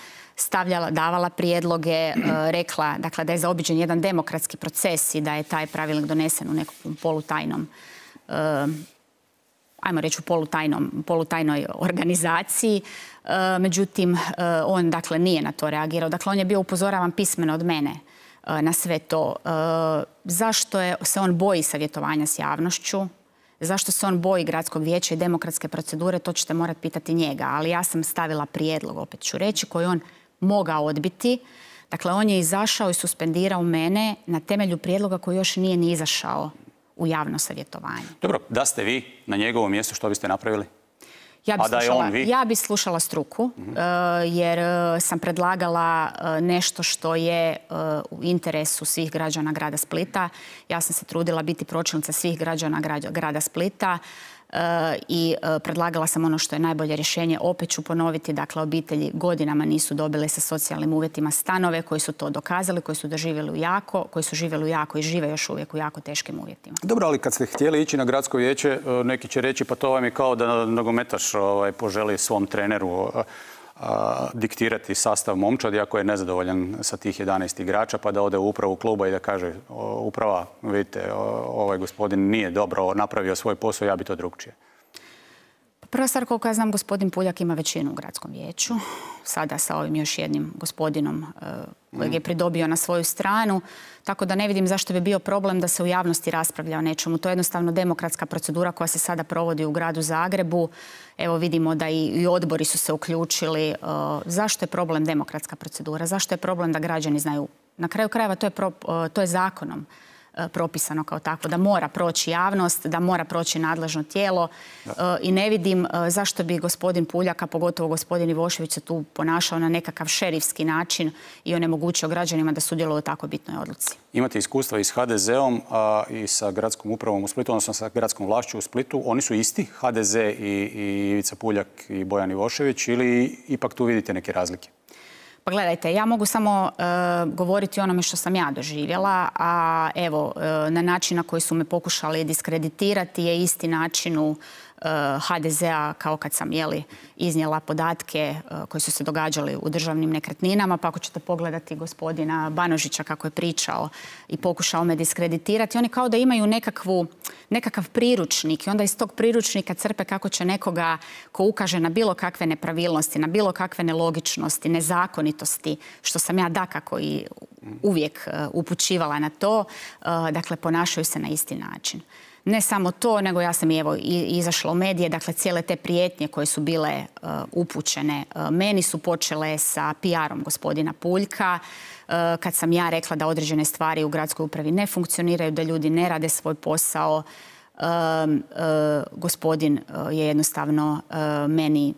davala prijedloge, rekla dakle, da je zaobiđen jedan demokratski proces i da je taj pravilnik donesen u nekom polutajnom, ajmo reći u polutajnoj organizaciji. Međutim, on dakle nije na to reagirao. Dakle, on je bio upozoravan pismeno od mene na sve to. Zašto se on boji savjetovanja s javnošću? Zašto se on boji gradskog vijeća i demokratske procedure, to ćete morati pitati njega. Ali ja sam stavila prijedlog, opet ću reći, koji on mogao odbiti. Dakle, on je izašao i suspendirao mene na temelju prijedloga koji još nije ni izašao u javno savjetovanje. Dobro, da ste vi na njegovom mjestu, što biste napravili? Ja bi slušala struku, jer sam predlagala nešto što je u interesu svih građana grada Splita. Ja sam se trudila biti pročelnica svih građana grada Splita i predlagala sam ono što je najbolje rješenje. Opet ću ponoviti, dakle, obitelji godinama nisu dobile sa socijalnim uvjetima stanove, koji su to dokazali, koji su živjeli u jako i žive još uvijek u jako teškim uvjetima. Dobro, ali kad ste htjeli ići na gradsko vijeće, neki će reći pa to vam je kao da nogometaš poželi svom treneru diktirati sastav momčadi ako je nezadovoljan sa tih 11 igrača, pa da ode u upravu kluba i da kaže uprava, vidite, ovaj gospodin nije dobro napravio svoj posao, ja bi to drugčije. Prva stvar, koliko ja znam, gospodin Puljak ima većinu u gradskom vijeću. Sada sa ovim još jednim gospodinom kojeg je pridobio na svoju stranu. Tako da ne vidim zašto bi bio problem da se u javnosti raspravlja o nečemu. To je jednostavno demokratska procedura koja se sada provodi u gradu Zagrebu. Evo vidimo da i odbori su se uključili. Zašto je problem demokratska procedura? Zašto je problem da građani znaju? Na kraju krajeva to je zakonom propisano kao tako, da mora proći javnost, da mora proći nadležno tijelo i ne vidim zašto bi gospodin Puljak, a pogotovo gospodin Ivošević se tu ponašao na nekakav šerifski način i onemogućio građanima da sudjeluju u tako bitnoj odluci. Imate iskustva i s HDZ-om i sa gradskom upravom u Splitu, odnosno sa gradskom vlašću u Splitu. Oni su isti, HDZ i Ivica Puljak i Bojan Ivošević, ili ipak tu vidite neke razlike? Pa gledajte, ja mogu samo govoriti o onome što sam ja doživjela, a evo, na način na koji su me pokušali diskreditirati je isti način u HDZ-a kao kad sam iznijela podatke koji su se događali u državnim nekretninama, pa ako ćete pogledati gospodina Banožića kako je pričao i pokušao me diskreditirati, oni kao da imaju nekakav priručnik i onda iz tog priručnika crpe kako će nekoga ko ukaže na bilo kakve nepravilnosti, na bilo kakve nelogičnosti, nezakonitosti, što sam ja dakako i uvijek upućivala na to, dakle ponašaju se na isti način. Ne samo to, nego ja sam izašla u medije, dakle cijele te prijetnje koje su bile upućene meni su počele sa PR-om gospodina Puljka, kad sam ja rekla da određene stvari u gradskoj upravi ne funkcioniraju, da ljudi ne rade svoj posao. Gospodin je jednostavno meni,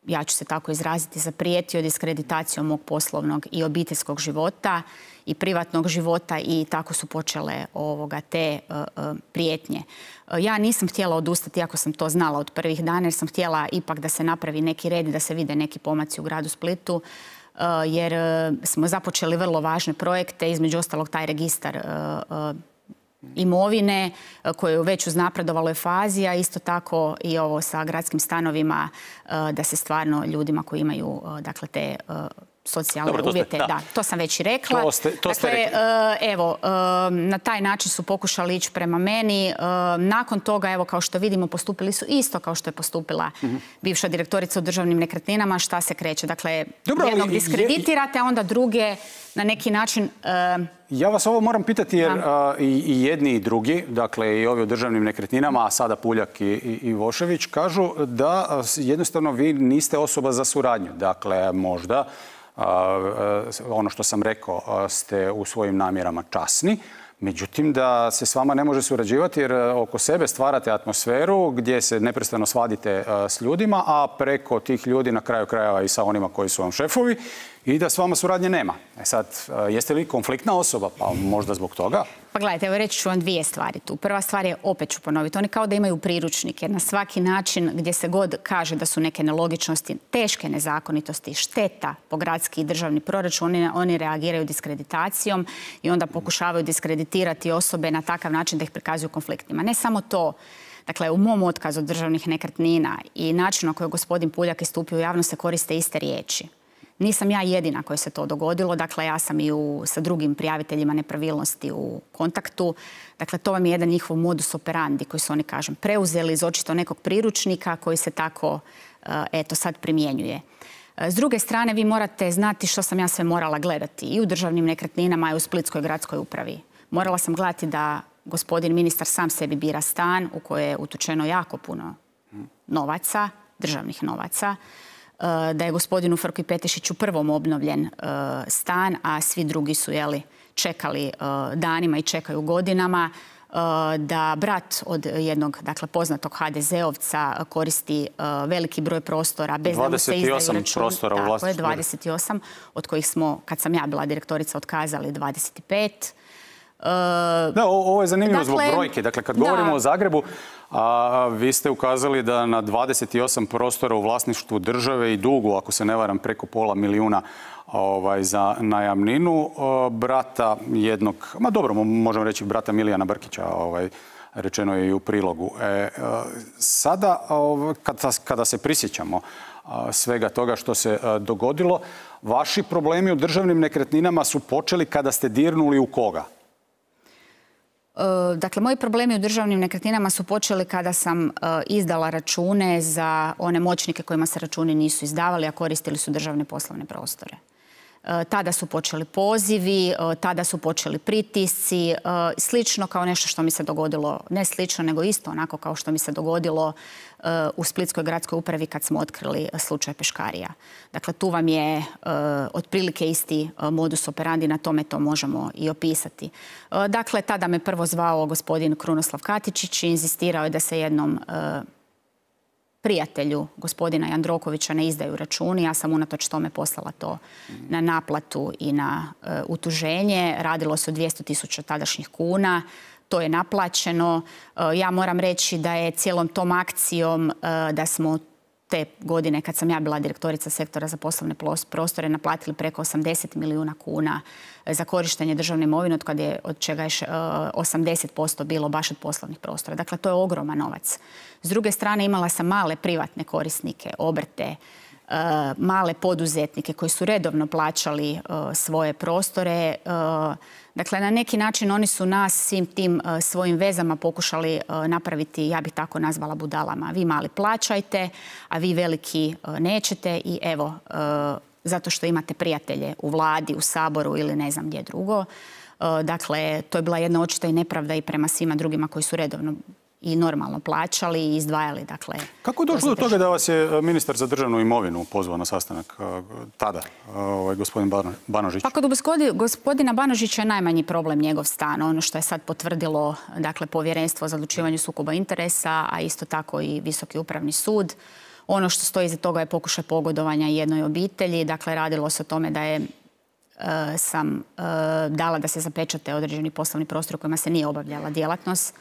ja ću se tako izraziti, zaprijetio diskreditacijom mog poslovnog i obiteljskog života i privatnog života i tako su počele te prijetnje. Ja nisam htjela odustati, iako sam to znala od prvih dana, jer sam htjela ipak da se napravi neki red i da se vide neki pomaci u gradu Splitu, jer smo započeli vrlo važne projekte, između ostalog taj registar imovine koje je već uznapredovaloj fazi, a isto tako i ovo sa gradskim stanovima, da se stvarno ljudima koji imaju dakle te socijalne uvjete, da, to sam već i rekla. Dakle, evo, na taj način su pokušali ići prema meni. Nakon toga, evo, kao što vidimo, postupili su isto kao što je postupila bivša direktorica u državnim nekretninama. Šta se kreće? Dakle, jednog diskreditirate, a onda druge na neki način... Ja vas ovo moram pitati jer i jedni i drugi, dakle i ovi u državnim nekretninama, a sada Puljak i Ivošević, kažu da jednostavno vi niste osoba za suradnju. Dakle, možda ono što sam rekao, ste u svojim namjerama časni, međutim da se s vama ne može surađivati jer oko sebe stvarate atmosferu gdje se neprestano svadite s ljudima, a preko tih ljudi na kraju krajeva i sa onima koji su vam šefovi i da s vama suradnje nema. Sad, jeste li konfliktna osoba? Pa možda zbog toga? Pa gledajte, evo reći ću vam dvije stvari tu. Prva stvar je, opet ću ponoviti, oni kao da imaju priručnike. Na svaki način gdje se god kaže da su neke nelogičnosti, teške nezakonitosti, šteta po gradski i državni proračun, oni reagiraju diskreditacijom i onda pokušavaju diskreditirati osobe na takav način da ih prikazuju konfliktnima. Ne samo to. Dakle, u mom otkazu od državnih nekretnina i načinu na koji je gospodin Puljak istupio u javnost se koriste iste riječi. Nisam ja jedina kojoj se to dogodilo, dakle ja sam i sa drugim prijaviteljima nepravilnosti u kontaktu. Dakle, to vam je jedan njihov modus operandi koji su oni, kažem, preuzeli iz očito nekog priručnika koji se tako, eto, sad primjenjuje. S druge strane, vi morate znati što sam ja sve morala gledati i u državnim nekretninama i u Splitskoj gradskoj upravi. Morala sam gledati da gospodin ministar sam sebi bira stan u koje je utučeno jako puno novaca, državnih novaca, da je gospodinu Frki Petešiću prvom obnovljen stan, a svi drugi su čekali danima i čekaju godinama, da brat od jednog, dakle, poznatog HDZ-ovca koristi veliki broj prostora bez da mu se izdaju računi. 28 prostora u vlasništvu. Tako je, 28, od kojih smo, kad sam ja bila direktorica, otkazali 25. Da, ovo je zanimljivo zbog brojke. Dakle, kad govorimo o Zagrebu, vi ste ukazali da na 28 prostora u vlasništvu države i dugu, ako se ne varam, preko £500.000 za najamninu, brata jednog, ma dobro, možemo reći brata Milijana Brkića, rečeno je i u prilogu. Sada, kada se prisjećamo svega toga što se dogodilo. Vaši problemi u državnim nekretninama su počeli kada ste dirnuli u koga? Dakle, moji problemi u državnim nekretninama su počeli kada sam izdala račune za one moćnike kojima se računi nisu izdavali, a koristili su državne poslovne prostore. Tada su počeli pozivi, tada su počeli pritisci, slično kao nešto što mi se dogodilo, ne slično, nego isto onako kao što mi se dogodilo u Splitskoj gradskoj upravi kad smo otkrili slučaj Peškarija. Dakle, tu vam je otprilike isti modus operandi, na tome to možemo i opisati. Dakle, tada me prvo zvao gospodin Krunoslav Katičić i inzistirao je da se jednom prijatelju gospodina Jandrokovića ne izdaju računi. Ja sam unatoč tome poslala to na naplatu i na utuženje. Radilo se o 200.000 tadašnjih kuna. To je naplaćeno. Ja moram reći da je cijelom tom akcijom da smo te godine kad sam ja bila direktorica sektora za poslovne prostore naplatili preko 80 milijuna kuna za korištenje državne imovine, od čega je 80% bilo baš od poslovnih prostora. Dakle, to je ogroman novac. S druge strane, imala sam male privatne korisnike, obrte, male poduzetnike koji su redovno plaćali svoje prostore. Dakle, na neki način oni su nas svim tim svojim vezama pokušali napraviti, ja bih tako nazvala, budalama. Vi mali plaćajte, a vi veliki nećete i evo, zato što imate prijatelje u vladi, u Saboru ili ne znam gdje drugo. Dakle, to je bila jedna očita i nepravda i prema svima drugima koji su redovno i normalno plaćali i izdvajali. Dakle, kako je došlo do toga da vas je ministar za državnu imovinu pozvao na sastanak tada, gospodin Banožić? Pa kod gospodina Banožića je najmanji problem njegov stan. Ono što je sad potvrdilo, dakle, Povjerenstvo za odlučivanje sukoba interesa, a isto tako i Visoki upravni sud. Ono što stoji iza toga je pokušaj pogodovanja jednoj obitelji. Dakle, radilo se o tome da sam dala da se zapečate određeni poslovni prostor u kojima se nije obavljala djelatnost,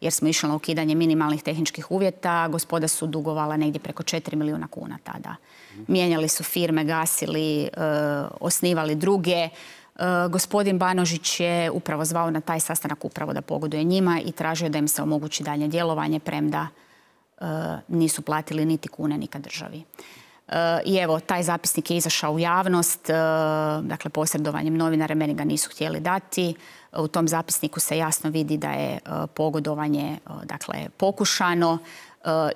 jer smo išli na ukidanje minimalnih tehničkih uvjeta. Gospoda su dugovala negdje preko 4 milijuna kuna tada. Mijenjali su firme, gasili, osnivali druge. Gospodin Banožić je upravo zvao na taj sastanak upravo da pogoduje njima i tražio da im se omogući dalje djelovanje, premda nisu platili niti kune nikad državi. I evo, taj zapisnik je izašao u javnost, dakle posredovanjem novinara, meni ga nisu htjeli dati. U tom zapisniku se jasno vidi da je pogodovanje, dakle, pokušano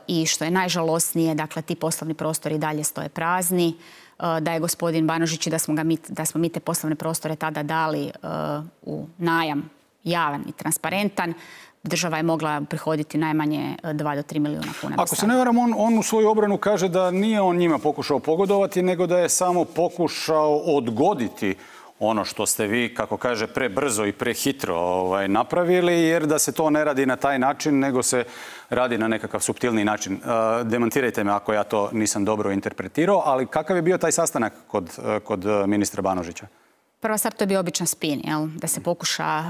i što je najžalosnije, dakle, ti poslovni prostori dalje stoje prazni, da je gospodin Banožić i da smo mi te poslovne prostore tada dali u najam javan i transparentan, država je mogla prihoditi najmanje 2 do 3 milijuna kuna. Ako se ne varam, on u svoju obranu kaže da nije on njima pokušao pogodovati, nego da je samo pokušao odgoditi ono što ste vi, kako kaže, prebrzo i prehitro napravili, jer da se to ne radi na taj način, nego se radi na nekakav suptilniji način. Demantirajte me ako ja to nisam dobro interpretirao, ali kakav je bio taj sastanak kod ministra Banožića? Prva stvar, to je bio običan spin, da se pokuša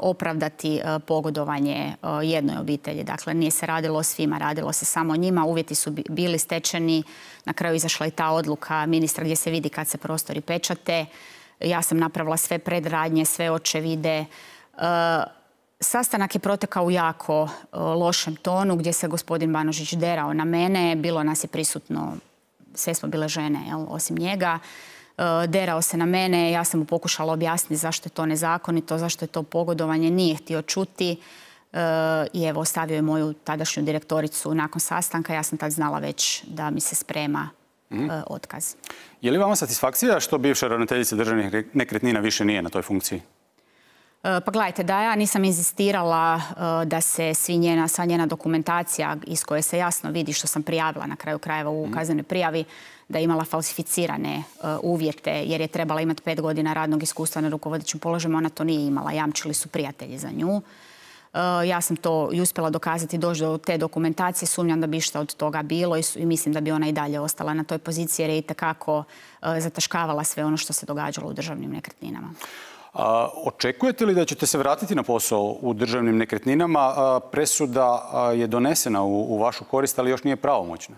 opravdati pogodovanje jednoj obitelji. Dakle, nije se radilo o svima, radilo se samo o njima. Uvjeti su bili stečeni. Na kraju izašla i ta odluka ministra gdje se vidi kad se prostori pečate. Ja sam napravila sve predradnje, sve očevide. Sastanak je protekao u jako lošem tonu gdje se gospodin Banožić derao na mene. Bilo nas je prisutno, sve smo bile žene, osim njega. Derao se na mene, ja sam mu pokušala objasniti zašto je to nezakonito, zašto je to pogodovanje, nije htio čuti i evo ostavio je moju tadašnju direktoricu nakon sastanka. Ja sam tad znala već da mi se sprema otkaz. Je li vama satisfakcija što bivša ravnateljica državnih nekretnina više nije na toj funkciji? Pa gledajte, da ja nisam inzistirala da se sva njena dokumentacija iz koje se jasno vidi što sam prijavila na kraju krajeva u kaznenoj prijavi, da je imala falsificirane uvjete jer je trebala imati 5 godina radnog iskustva na rukovodećim položajima, ona to nije imala, jamčili su prijatelji za nju. Ja sam to i uspjela dokazati, doći do te dokumentacije, sumnjam da bi išta od toga bilo i mislim da bi ona i dalje ostala na toj poziciji jer je itekako zataškavala sve ono što se događalo u državnim nekretninama. Očekujete li da ćete se vratiti na posao u državnim nekretninama? Presuda je donesena u vašu korist, ali još nije pravomoćna.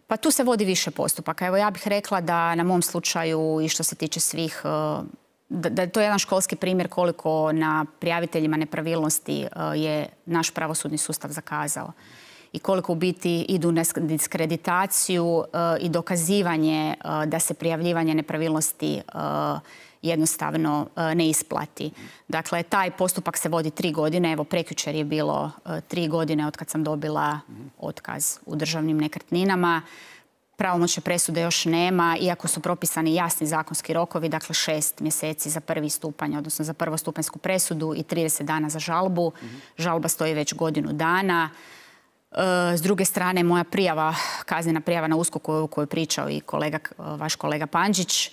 Pa tu se vodi više postupaka. Evo, ja bih rekla da na mom slučaju i što se tiče svih, da je to jedan školski primjer koliko na prijaviteljima nepravilnosti je naš pravosudni sustav zakazao. i koliko u biti idu na diskreditaciju i dokazivanje da se prijavljivanje nepravilnosti jednostavno ne isplati. Dakle, taj postupak se vodi 3 godine. Evo, prekjučer je bilo 3 godine od kad sam dobila otkaz u državnim nekretninama. Pravomoćne presude još nema, iako su propisani jasni zakonski rokovi, dakle 6 mjeseci za prvi stupanj, odnosno za prvostupanjsku presudu i 30 dana za žalbu. Žalba stoji već godinu dana. S druge strane, moja prijava, kaznena prijava na USKOK-u o kojoj je pričao i vaš kolega Pandžić,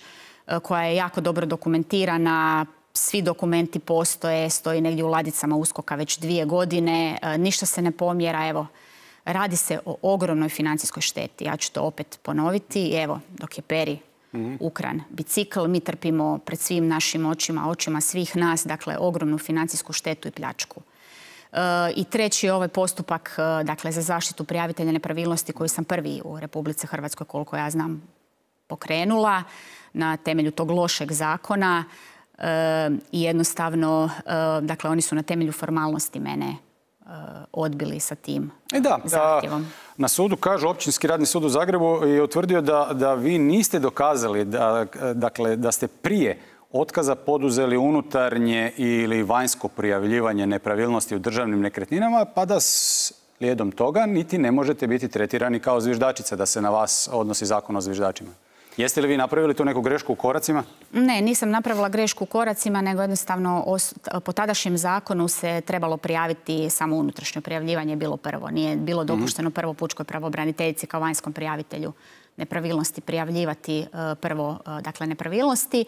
koja je jako dobro dokumentirana, svi dokumenti postoje, stoji negdje u ladicama USKOK-a već 2 godine, ništa se ne pomjera, evo. Radi se o ogromnoj financijskoj šteti. Ja ću to opet ponoviti. Evo, dok je Peri ukran bicikl, mi trpimo pred svim našim očima svih nas, dakle, ogromnu financijsku štetu i pljačku. I treći ovaj postupak, dakle, za zaštitu prijavitelja nepravilnosti koji sam prvi u Republici Hrvatskoj, koliko ja znam, pokrenula na temelju tog lošeg zakona. I jednostavno, dakle, oni su na temelju formalnosti mene odbili sa tim zahtjevom. Na sudu, kažu, Općinski radni sud u Zagrebu je utvrdio da vi niste dokazali da ste prije otkaza poduzeli unutarnje ili vanjsko prijavljivanje nepravilnosti u državnim nekretninama, pa da slijedom toga niti ne možete biti tretirani kao zviždačica, da se na vas odnosi zakon o zviždačima. Jeste li vi napravili tu neku grešku u koracima? Ne, nisam napravila grešku u koracima, nego jednostavno po tadašnjem zakonu se trebalo prijaviti samo unutrašnje prijavljivanje, bilo prvo. Nije bilo dopušteno prvo pučkoj pravobraniteljici kao vanjskom prijavitelju nepravilnosti prijavljivati prvo, dakle, nepravilnosti.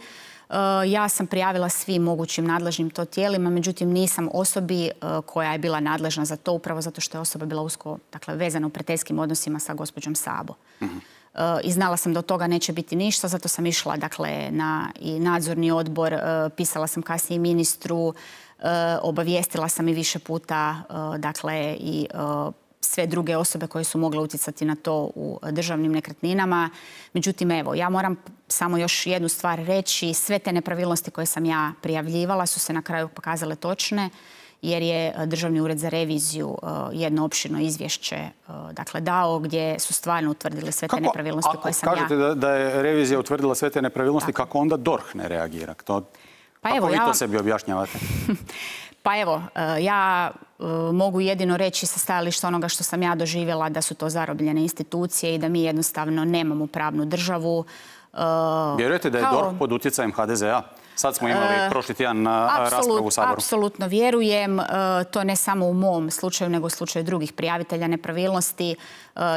Ja sam prijavila svim mogućim nadležnim to tijelima, međutim nisam osobi koja je bila nadležna za to, upravo zato što je osoba bila usko, dakle, vezana u prijateljskim odnosima sa gospođom Sabo. I znala sam da od toga neće biti ništa, zato sam išla, dakle, na i nadzorni odbor, pisala sam kasnije ministru, obavijestila sam i više puta, dakle, i sve druge osobe koje su mogle utjecati na to u državnim nekretninama. Međutim, evo, ja moram samo još jednu stvar reći. Sve te nepravilnosti koje sam ja prijavljivala su se na kraju pokazale točne, jer je Državni ured za reviziju jedno opširno izvješće, dakle, dao, gdje su stvarno utvrdili sve te nepravilnosti koje sam ja... Ako kažete da je revizija utvrdila sve te nepravilnosti, kako onda DORH ne reagira? Kako vi to sebi objašnjavate? Pa evo, ja mogu jedino reći sa stajališta onoga što sam ja doživjela, da su to zarobljene institucije i da mi jednostavno nemamo pravnu državu. Vjerujete da je DORH pod utjecajem HDZ-a? Sad smo imali prošli tjedan raspravu u Saboru. Apsolutno vjerujem. To ne samo u mom slučaju, nego u slučaju drugih prijavitelja nepravilnosti.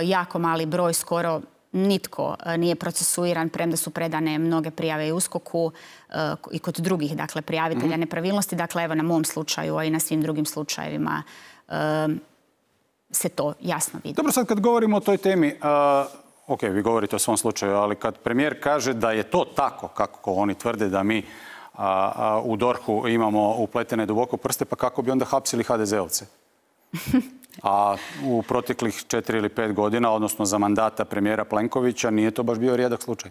Jako mali broj, skoro nitko nije procesuiran, premda su predane mnoge prijave i USKOK-u i kod drugih, dakle, prijavitelja nepravilnosti. Dakle, evo, na mom slučaju, a i na svim drugim slučajevima se to jasno vidi. Dobro, sad kad govorimo o toj temi, ok, vi govorite o svom slučaju, ali kad premijer kaže da je to tako, kako oni tvrde da mi u DORH-u imamo upletene duboko prste, pa kako bi onda hapsili HDZ-ovce? A u proteklih 4 ili 5 godina, odnosno za mandata premijera Plenkovića, nije to baš bio rijedak slučaj.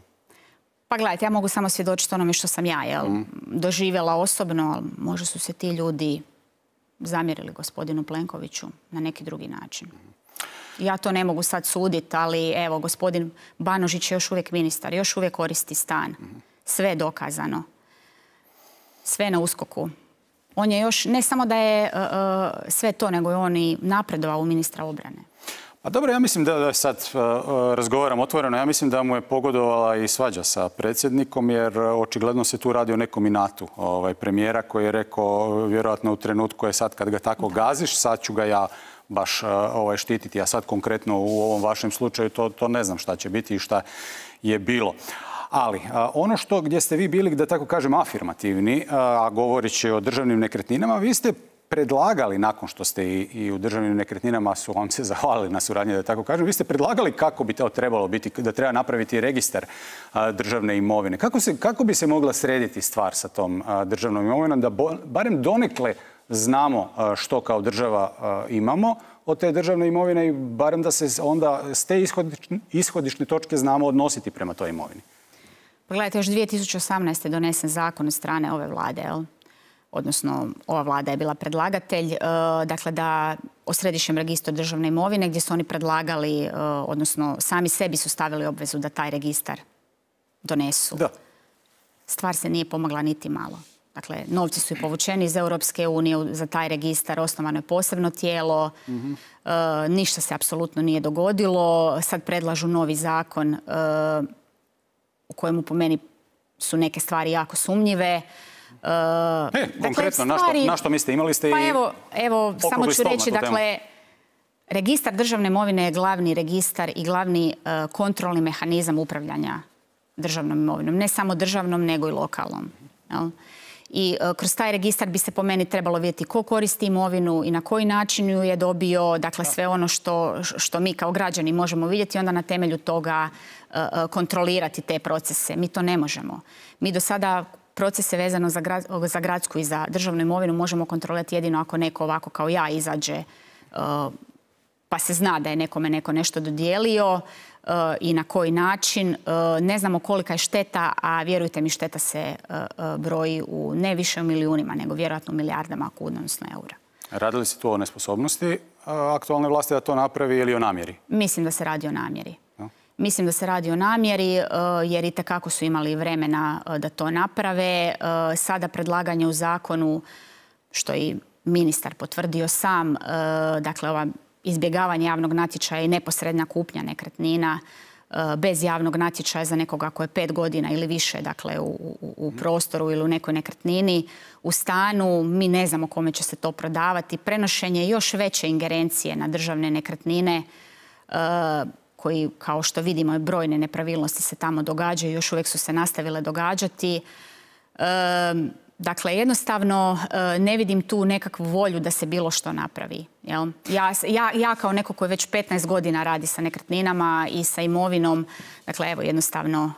Pa gledajte, ja mogu samo svjedočiti onome što sam ja doživjela osobno, ali možda su se ti ljudi zamjerili gospodinu Plenkoviću na neki drugi način. Ja to ne mogu sad suditi, ali evo, gospodin Banožić je još uvijek ministar, još uvijek koristi stan. Sve je dokazano. Sve na USKOK-u. On je još, ne samo da je sve to, nego je on i napredovao u ministra obrane. Pa dobro, ja mislim da sad razgovaram otvoreno, ja mislim da mu je pogodovala i svađa sa predsjednikom, jer očigledno se tu radi o nekom inatu premijera koji je rekao, vjerojatno u trenutku je sad kad ga tako gaziš, sad ću ga ja baš štititi, a sad konkretno u ovom vašem slučaju to ne znam šta će biti i šta je bilo. Ali ono gdje ste vi bili, da tako kažem, afirmativni, a govoreći o državnim nekretninama, vi ste predlagali, nakon što ste i u državnim nekretninama su vam se zahvalili na suradnji, da tako kažem, vi ste predlagali kako bi to trebalo biti, da treba napraviti registar državne imovine. Kako bi se mogla srediti stvar sa tom državnom imovinom, da barem donekle znamo što kao država imamo od te državne imovine i barem da se onda s te ishodišne točke znamo odnositi prema toj imovini? Pogledajte, još 2018. je donesen zakon od strane ove vlade, odnosno ova vlada je bila predlagatelj, dakle da o središnjem registru državne imovine gdje su oni predlagali, odnosno sami sebi su stavili obvezu da taj registar donesu. Da. Stvar se nije pomogla niti malo. Dakle, novci su i povučeni iz Europske unije za taj registar, osnovano je posebno tijelo, ništa se apsolutno nije dogodilo. Sad predlažu novi zakon u kojemu po meni su neke stvari jako sumnjive. Konkretno, na što mislite? Imali ste i evo samo ću reći, dakle, registar državne imovine je glavni registar i glavni kontrolni mehanizam upravljanja državnom imovinom. Ne samo državnom, nego i lokalnom. I kroz taj registar bi se po meni trebalo vidjeti ko koristi imovinu i na koji način ju je dobio, dakle sve ono što mi kao građani možemo vidjeti i onda na temelju toga kontrolirati te procese. Mi to ne možemo. Mi do sada procese vezano za gradsku i za državnu imovinu možemo kontrolirati jedino ako neko ovako kao ja izađe pa se zna da je nekome neko nešto dodijelio i na koji način. Ne znamo kolika je šteta, a vjerujte mi šteta se broji u ne više u milijunima, nego vjerojatno u milijardama kuna, odnosno eura. Radi li se tu o nesposobnosti aktualne vlasti da to napravi ili o namjeri? Mislim da se radi o namjeri. Mislim da se radi o namjeri jer itekako su imali vremena da to naprave. Sada predlaganje u zakonu, što i ministar potvrdio sam, dakle ova izbjegavanje javnog natječaja i neposredna kupnja nekretnina bez javnog natječaja za nekoga ko je 5 godina ili više, dakle u prostoru ili u nekoj nekretnini, u stanu, mi ne znamo kome će se to prodavati. Prenošenje još veće ingerencije na državne nekretnine koji, kao što vidimo, brojne nepravilnosti se tamo događaju i još uvijek su se nastavile događati. Dakle, jednostavno ne vidim tu nekakvu volju da se bilo što napravi. Ja kao neko koji već 15 godina radi sa nekretninama i sa imovinom, dakle, evo, jednostavno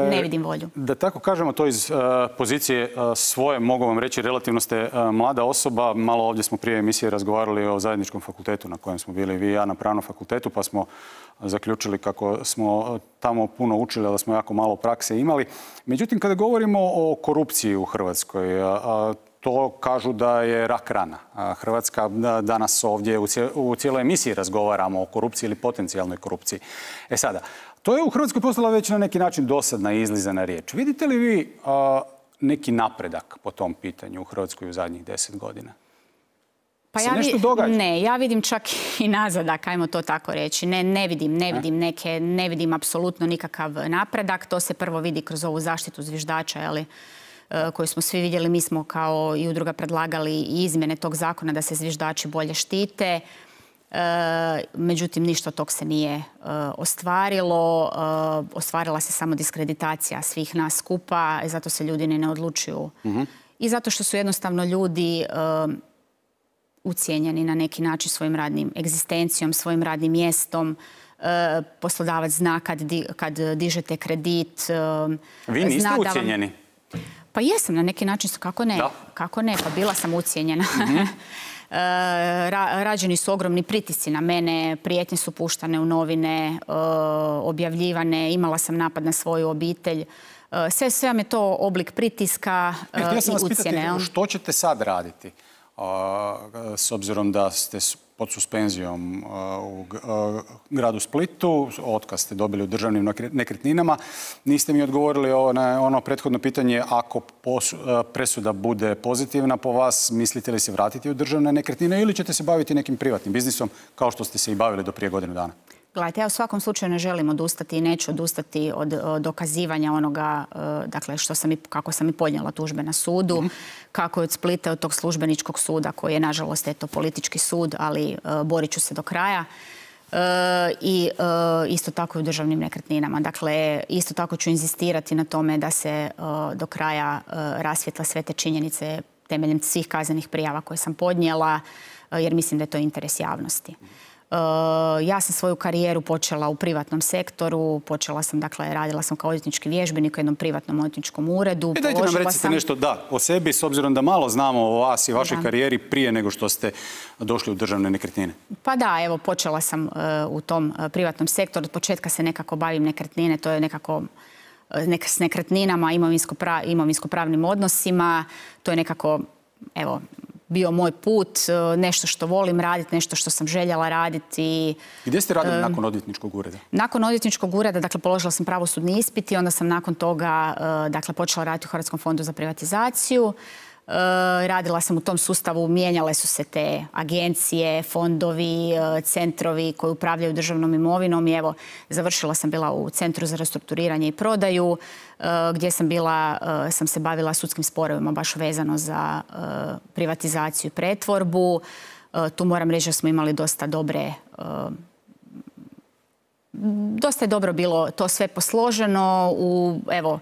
ne vidim volju. Da tako kažemo to iz pozicije svoje, mogu vam reći, relativno ste mlada osoba. Malo ovdje smo prije emisije razgovarali o zajedničkom fakultetu na kojem smo bili vi i ja na Pravnom fakultetu, pa smo zaključili kako smo tamo puno učili, da smo jako malo prakse imali. Međutim, kada govorimo o korupciji u Hrvatskoj, to kažu da je rak rana. Hrvatska danas ovdje u cijeloj emisiji razgovaramo o korupciji ili potencijalnoj korupciji. Sada, to je u Hrvatskoj postala već na neki način dosadna i izlizana riječ. Vidite li vi neki napredak po tom pitanju u Hrvatskoj u zadnjih 10 godina? Pa ja vidim čak i nazadak, ajmo to tako reći. Ne vidim apsolutno nikakav napredak. To se prvo vidi kroz ovu zaštitu zviždača, koju smo svi vidjeli. Mi smo kao i udruga predlagali i izmjene tog zakona da se zviždači bolje štite. Međutim, ništa od tog se nije ostvarilo. Ostvarila se samo diskreditacija svih nas skupa i zato se ljudi ne odlučuju. I zato što su jednostavno ljudi ucijenjeni na neki način svojim radnim egzistencijom, svojim radnim mjestom. Poslodavac zna kad dižete kredit. Vi niste ucijenjeni? Pa jesam, na neki način, kako ne? Kako ne, pa bila sam ucijenjena. Rađeni su ogromni pritisci na mene, prijetnje su puštane u novine, objavljivane, imala sam napad na svoju obitelj. Sve vam je to oblik pritiska i ucjene. Htio sam vas pitati, što ćete sad raditi? S obzirom da ste pod suspenzijom u gradu Splitu, otkaz ste dobili u državnim nekretninama, niste mi odgovorili na ono prethodno pitanje, ako presuda bude pozitivna po vas, mislite li se vratiti u državne nekretnine ili ćete se baviti nekim privatnim biznisom kao što ste se i bavili do prije godinu dana? Gledajte, ja u svakom slučaju ne želim odustati i neću odustati od dokazivanja onoga, dakle, kako sam i podnijela tužbe na sudu, kako je od Splita, od tog službeničkog suda, koji je, nažalost, politički sud, ali borit ću se do kraja. I isto tako i u državnim nekretninama. Dakle, isto tako ću inzistirati na tome da se do kraja rasvijetla sve te činjenice temeljem svih kaznenih prijava koje sam podnijela, jer mislim da je to interes javnosti. Ja sam svoju karijeru počela u privatnom sektoru, radila sam kao odvjetnički vježbenik u jednom privatnom odvjetničkom uredu. Dajte nam recite nešto o sebi, s obzirom da malo znamo o vas i vašoj karijeri prije nego što ste došli u državne nekretnine. Pa da, evo, počela sam u tom privatnom sektoru. Od početka se nekako bavim nekretnine, to je nekako s nekretninama, imovinsko-pravnim odnosima. To je nekako, evo, bio moj put, nešto što volim raditi, nešto što sam željela raditi. Gdje ste radili nakon odvjetničkog ureda? Nakon odvjetničkog ureda, dakle, položila sam pravosudni ispit i onda sam nakon toga, dakle, počela raditi u Hrvatskom fondu za privatizaciju. Radila sam u tom sustavu, mijenjale su se te agencije, fondovi, centrovi koji upravljaju državnom imovinom i evo, završila sam bila u Centru za restrukturiranje i prodaju gdje sam se bavila sudskim sporovima baš vezano za privatizaciju i pretvorbu. Tu moram reći da smo imali dosta je dobro bilo to sve posloženo. Evo,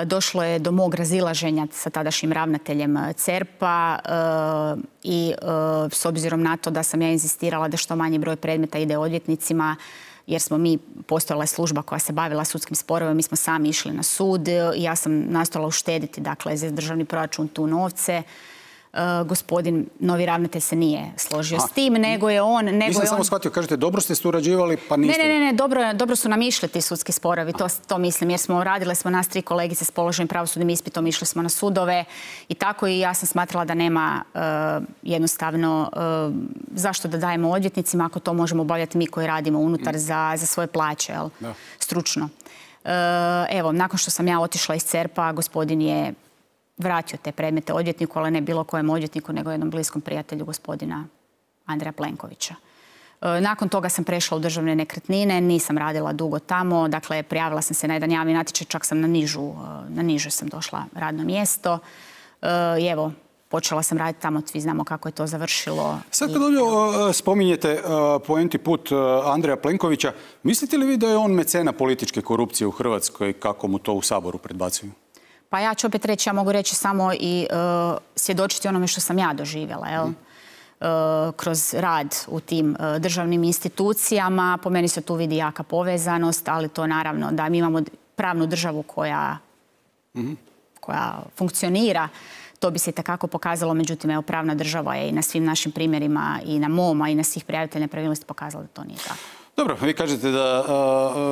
došlo je do mog razilaženja sa tadašnjim ravnateljem CERP-a i s obzirom na to da sam ja inzistirala da što manji broj predmeta ide odvjetnicima, jer postojala je služba koja se bavila sudskim sporovima, mi smo sami išli na sud i ja sam nastojala uštediti, dakle, za državni proračun tu novce. Gospodin novi ravnatelj se nije složio s tim, nego je on... Nisam samo shvatio, kažete, dobro ste surađivali, pa niste... Ne, dobro su nam išli ti sudski sporovi, to mislim, jer radile smo nas 3 kolegice s položenim pravosudnim ispitom, išli smo na sudove i tako i ja sam smatrala da nema jednostavno zašto da dajemo odvjetnicima ako to možemo obavljati mi koji radimo unutar za svoje plaće, stručno. Evo, nakon što sam ja otišla iz CERP-a, gospodin je vratio te predmete odvjetniku, ali ne bilo kojem odvjetniku, nego jednom bliskom prijatelju gospodina Andreja Plenkovića. Nakon toga sam prešla u državne nekretnine, nisam radila dugo tamo, dakle prijavila sam se na jedan javni natječaj, čak sam na niže sam došla radno mjesto i evo, počela sam raditi tamo, svi znamo kako je to završilo. Sad kad ovdje spominjete poenti put Andreja Plenkovića, mislite li vi da je on mecena političke korupcije u Hrvatskoj, kako mu to u Saboru predbacuju? Pa ja ću opet reći, ja mogu reći samo i svjedočiti onome što sam ja doživjela, kroz rad u tim državnim institucijama. Po meni se tu vidi jaka povezanost, ali to naravno da mi imamo pravnu državu koja funkcionira, to bi se itekako pokazalo. Međutim, evo, pravna država je i na svim našim primjerima i na moma i na svih prijavitelja nepravilnosti pokazala da to nije tako. Dobro, vi kažete da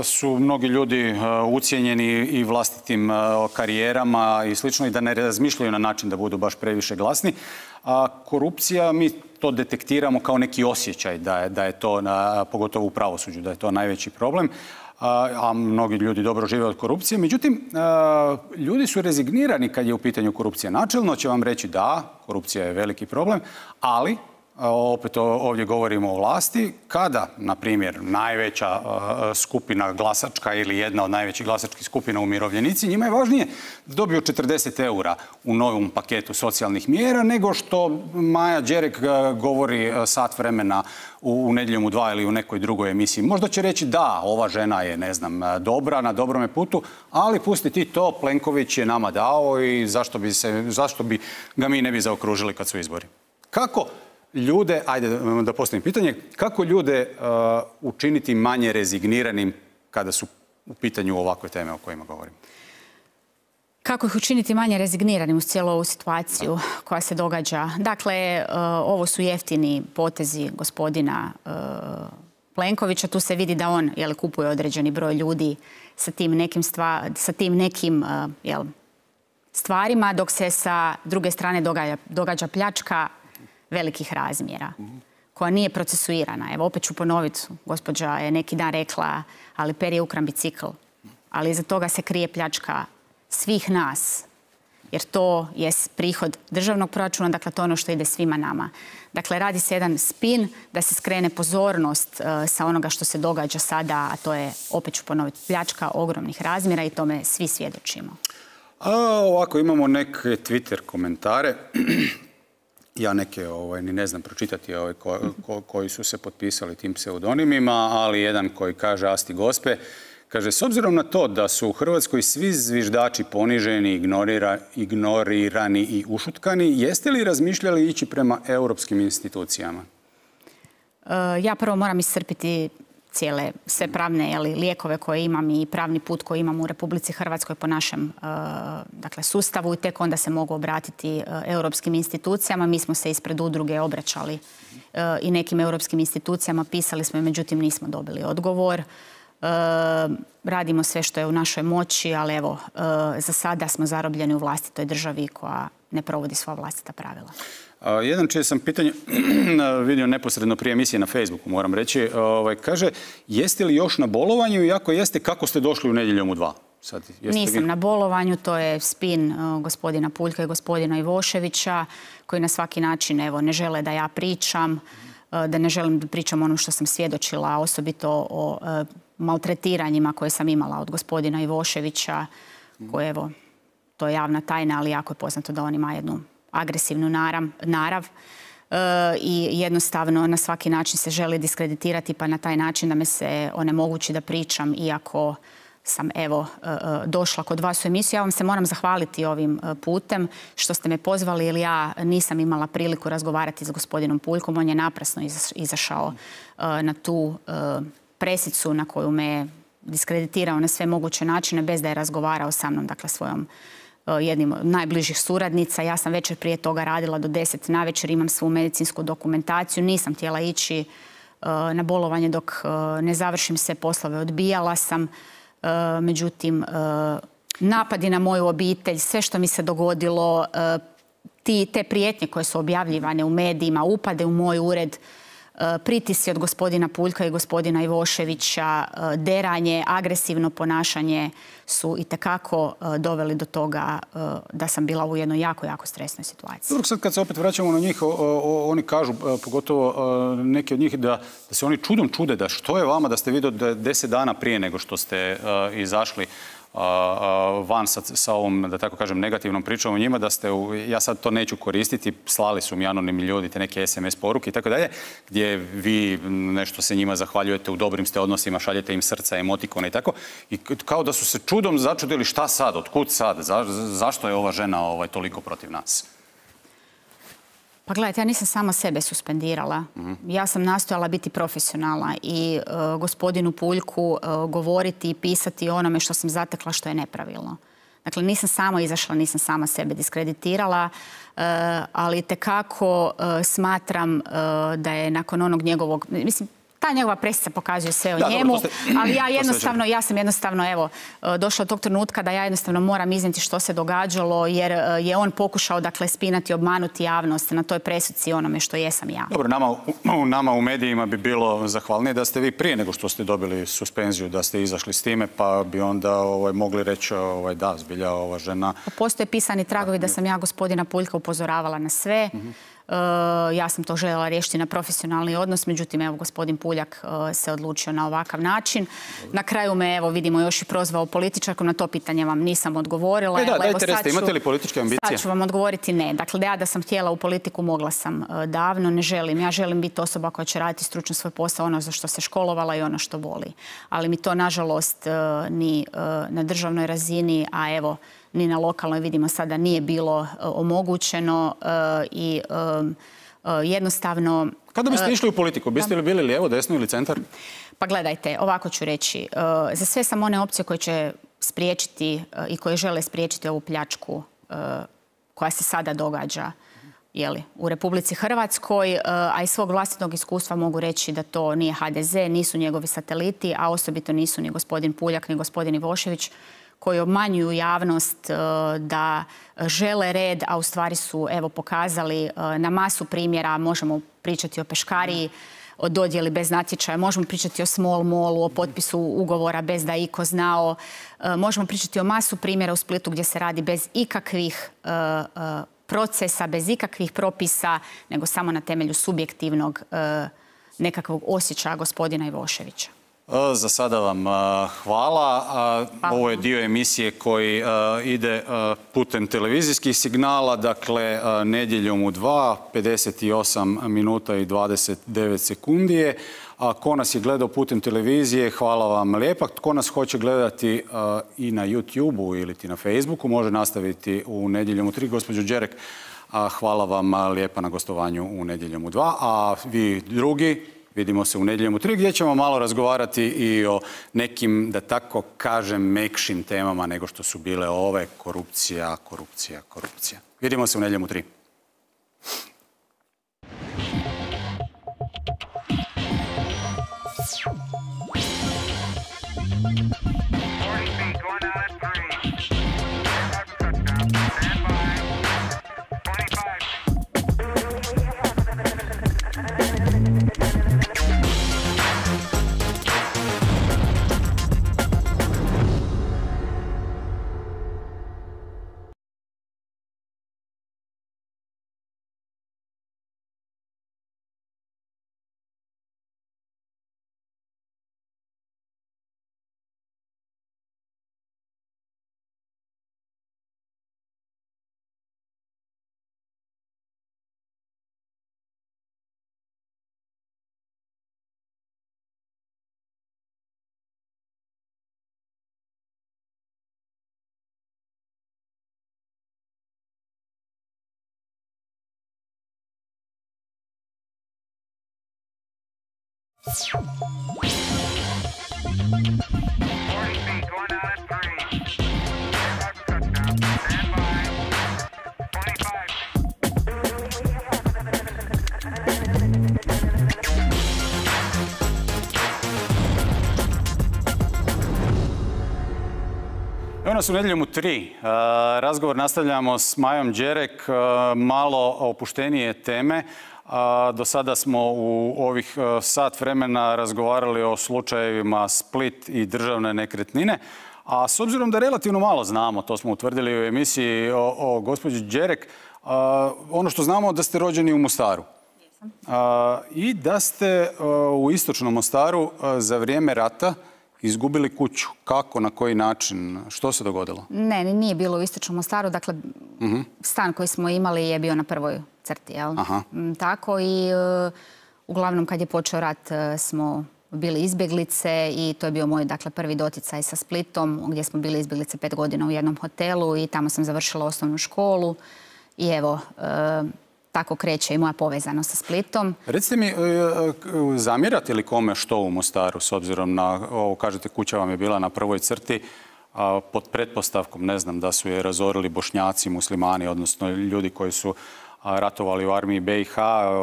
su mnogi ljudi ucijenjeni i vlastitim karijerama i slično i da ne razmišljaju na način da budu baš previše glasni. A korupcija, mi to detektiramo kao neki osjećaj da je to, pogotovo u pravosuđu, da je to najveći problem. A mnogi ljudi dobro žive od korupcije. Međutim, ljudi su rezignirani kad je u pitanju korupcija. Načelno će vam reći da, korupcija je veliki problem, ali opet ovdje govorimo o vlasti, kada, na primjer, najveća skupina glasačka ili jedna od najvećih glasačkih skupina umirovljenici, njima je važnije da dobiju 40 eura u novom paketu socijalnih mjera nego što Maja Đerek govori sat vremena u Nedjeljom u 2 ili u nekoj drugoj emisiji. Možda će reći da, ova žena je, ne znam, dobra, na dobrome putu, ali pusti ti to, Plenković je nama dao i zašto bi ga mi ne bi zaokružili kad su izbori. Kako ljude, ajde da postavim pitanje, kako ljude učiniti manje rezigniranim kada su u pitanju ovakve teme o kojima govorim? Kako ih učiniti manje rezigniranim uz cijelu ovu situaciju koja se događa? Dakle, ovo su jeftini potezi gospodina Plenkovića. Tu se vidi da on kupuje određeni broj ljudi sa tim nekim stvarima, dok se sa druge strane događa pljačka velikih razmjera, koja nije procesuirana. Evo, opet ću ponoviti, gospođa je neki dan rekla, ali per je ukran bicikl. Ali iza toga se krije pljačka svih nas, jer to je prihod državnog proračuna, dakle to je ono što ide svima nama. Dakle, radi se jedan spin da se skrene pozornost sa onoga što se događa sada, a to je, opet ću ponoviti, pljačka ogromnih razmjera i tome svi svjedočimo. Ovako, imamo neke Twitter komentare. Ja neke ni ne znam pročitati koji su se potpisali tim pseudonimima, ali jedan koji kaže Asti Gospe, kaže, s obzirom na to da su u Hrvatskoj svi zviždači poniženi, ignorirani i ušutkani, jeste li razmišljali ići prema europskim institucijama? Ja prvo moram iscrpiti sve pravne lijekove koje imam i pravni put koji imam u Republici Hrvatskoj po našem sustavu i tek onda se mogu obratiti europskim institucijama. Mi smo se ispred udruge obraćali i nekim europskim institucijama, pisali smo i međutim nismo dobili odgovor. Radimo sve što je u našoj moći, ali evo, za sada smo zarobljeni u vlastitoj državi koja ne provodi svoja vlastita pravila. Jedan čije sam pitanje vidio neposredno prije emisije na Facebooku, moram reći, kaže, jeste li još na bolovanju i ako jeste, kako ste došli u Nedjeljom u 2? Nisam na bolovanju, to je spin gospodina Puljka i gospodina Ivoševića, koji na svaki način ne žele da ja pričam, da ne želim da pričam ono što sam svjedočila, osobito o maltretiranjima koje sam imala od gospodina Ivoševića, koje, evo, to je javna tajna, ali jako je poznato da on ima jednu agresivnu narav i jednostavno na svaki način se želi diskreditirati, pa na taj način da me se onemogući da pričam, iako sam došla kod vas u emisiju. Ja vam se moram zahvaliti ovim putem što ste me pozvali, jer ja nisam imala priliku razgovarati s gospodinom Puljkom. On je naprasno izašao na tu presicu na koju me diskreditirao na sve moguće načine bez da je razgovarao sa mnom, dakle svojom jednim od najbližih suradnica. Ja sam večer prije toga radila do 10 navečer, imam svu medicinsku dokumentaciju, nisam htjela ići na bolovanje dok ne završim sve poslove, odbijala sam. Međutim, napadi na moju obitelj, sve što mi se dogodilo, te prijetnje koje su objavljivane u medijima, upade u moj ured, pritisci od gospodina Puljka i gospodina Ivoševića, deranje, agresivno ponašanje su itekako doveli do toga da sam bila u jednoj jako, jako stresnoj situaciji. Sad kad se opet vraćamo na njih, oni kažu, pogotovo neki od njih, da se oni čudom čude da što je vama da ste vidjeli da 10 dana prije nego što ste izašli van sa ovom, da tako kažem, negativnom pričom o njima, da ste, ja sad to neću koristiti, slali su mi anonimni ljudi te neke SMS poruke i tako dalje, gdje vi nešto se njima zahvaljujete, u dobrim ste odnosima, šaljete im srca, emotikone i tako. I kao da su se čudom začudili šta sad, otkud sad, zašto je ova žena toliko protiv nas? Pa gledajte, ja nisam sama sebe suspendirala. Ja sam nastojala biti profesionalna i gospodinu Puljku govoriti i pisati o onome što sam zatekla što je nepravilno. Dakle, nisam sama izašla, nisam sama sebe diskreditirala, ali tekako smatram da je nakon onog njegovog... Mislim, ta njegova presica pokazuje sve o njemu, ali ja sam jednostavno, evo, došla do tog trenutka da ja jednostavno moram iznijeti što se događalo, jer je on pokušao, dakle, spinati, obmanuti javnost na toj presuci onome što jesam ja. Dobro, nama u medijima bi bilo zahvalnije da ste vi prije nego što ste dobili suspenziju, da ste izašli s time, pa bi onda mogli reći da, zbilja ova žena... Postoje pisani tragovi da sam ja gospodina Puljka upozoravala na sve. Ja sam to željela riješiti na profesionalni odnos, međutim, evo, gospodin Puljak se odlučio na ovakav način. Na kraju me, evo, vidimo, još i prozvao političarkom, na to pitanje vam nisam odgovorila. Dajte reste, imate li političke ambicije? Sad ću vam odgovoriti ne. Dakle, da sam htjela u politiku, mogla sam davno, ne želim. Ja želim biti osoba koja će raditi stručno svoj posao, ono za što se školovala i ono što voli. Ali mi to, nažalost, ni na državnoj razini, a evo, ni na lokalnoj, vidimo sada, nije bilo omogućeno i jednostavno... Kada biste išli u politiku? Biste li bili lijevo, desno ili centar? Pa gledajte, ovako ću reći. Za sve sam one opcije koje će spriječiti i koje žele spriječiti ovu pljačku koja se sada događa u Republici Hrvatskoj, a iz svog vlastitog iskustva mogu reći da to nije HDZ, nisu njegovi sateliti, a osobito nisu ni gospodin Puljak, ni gospodin Ivošević, koji obmanjuju javnost da žele red, a u stvari su, evo, pokazali na masu primjera. Možemo pričati o peškariji, o dodjeli bez natječaja, možemo pričati o small mallu, o potpisu ugovora bez da je iko znao. Možemo pričati o masu primjera u Splitu gdje se radi bez ikakvih procesa, bez ikakvih propisa, nego samo na temelju subjektivnog nekakvog osjećaja gospodina Ivoševića. Za sada vam hvala. Ovo je dio emisije koji ide putem televizijskih signala, dakle Nedjeljom u 2, 58 minuta i 29 sekundi je. Ko nas je gledao putem televizije, hvala vam lijepa. Ko nas hoće gledati i na YouTube-u ili na Facebooku, može nastaviti u Nedjeljom u 3. Gospođo Đerek, hvala vam lijepa na gostovanju u Nedjeljom u 2. A vi drugi, vidimo se u Nedjeljom u 3, gdje ćemo malo razgovarati i o nekim, da tako kažem, mekšim temama nego što su bile ove. Korupcija. Vidimo se u Nedjeljom u 3. Evo nas u Nedjeljom u 3. Razgovor nastavljamo s Majom Đerek, malo opuštenije teme. Do sada smo u ovih sat vremena razgovarali o slučajevima Split i državne nekretnine. A s obzirom da relativno malo znamo, to smo utvrdili u emisiji o gospođi Đerek, ono što znamo da ste rođeni u Mostaru. I da ste u istočnom Mostaru za vrijeme rata izgubili kuću. Kako, na koji način? Što se dogodilo? Ne, nije bilo u istočnom Mostaru. Dakle, stan koji smo imali je bio na prvoj crti, jel? Tako i uglavnom kad je počeo rat smo bili izbjeglice i to je bio moj, dakle, prvi doticaj sa Splitom, gdje smo bili izbjeglice 5 godina u jednom hotelu i tamo sam završila osnovnu školu i evo, tako kreće i moja povezanost sa Splitom. Recite mi, zamjerate li kome što u Mostaru, s obzirom na ovo, kažete, kuća vam je bila na prvoj crti, pod pretpostavkom, ne znam, da su je razorili Bošnjaci, muslimani, odnosno ljudi koji su ratovali u armiji BiH,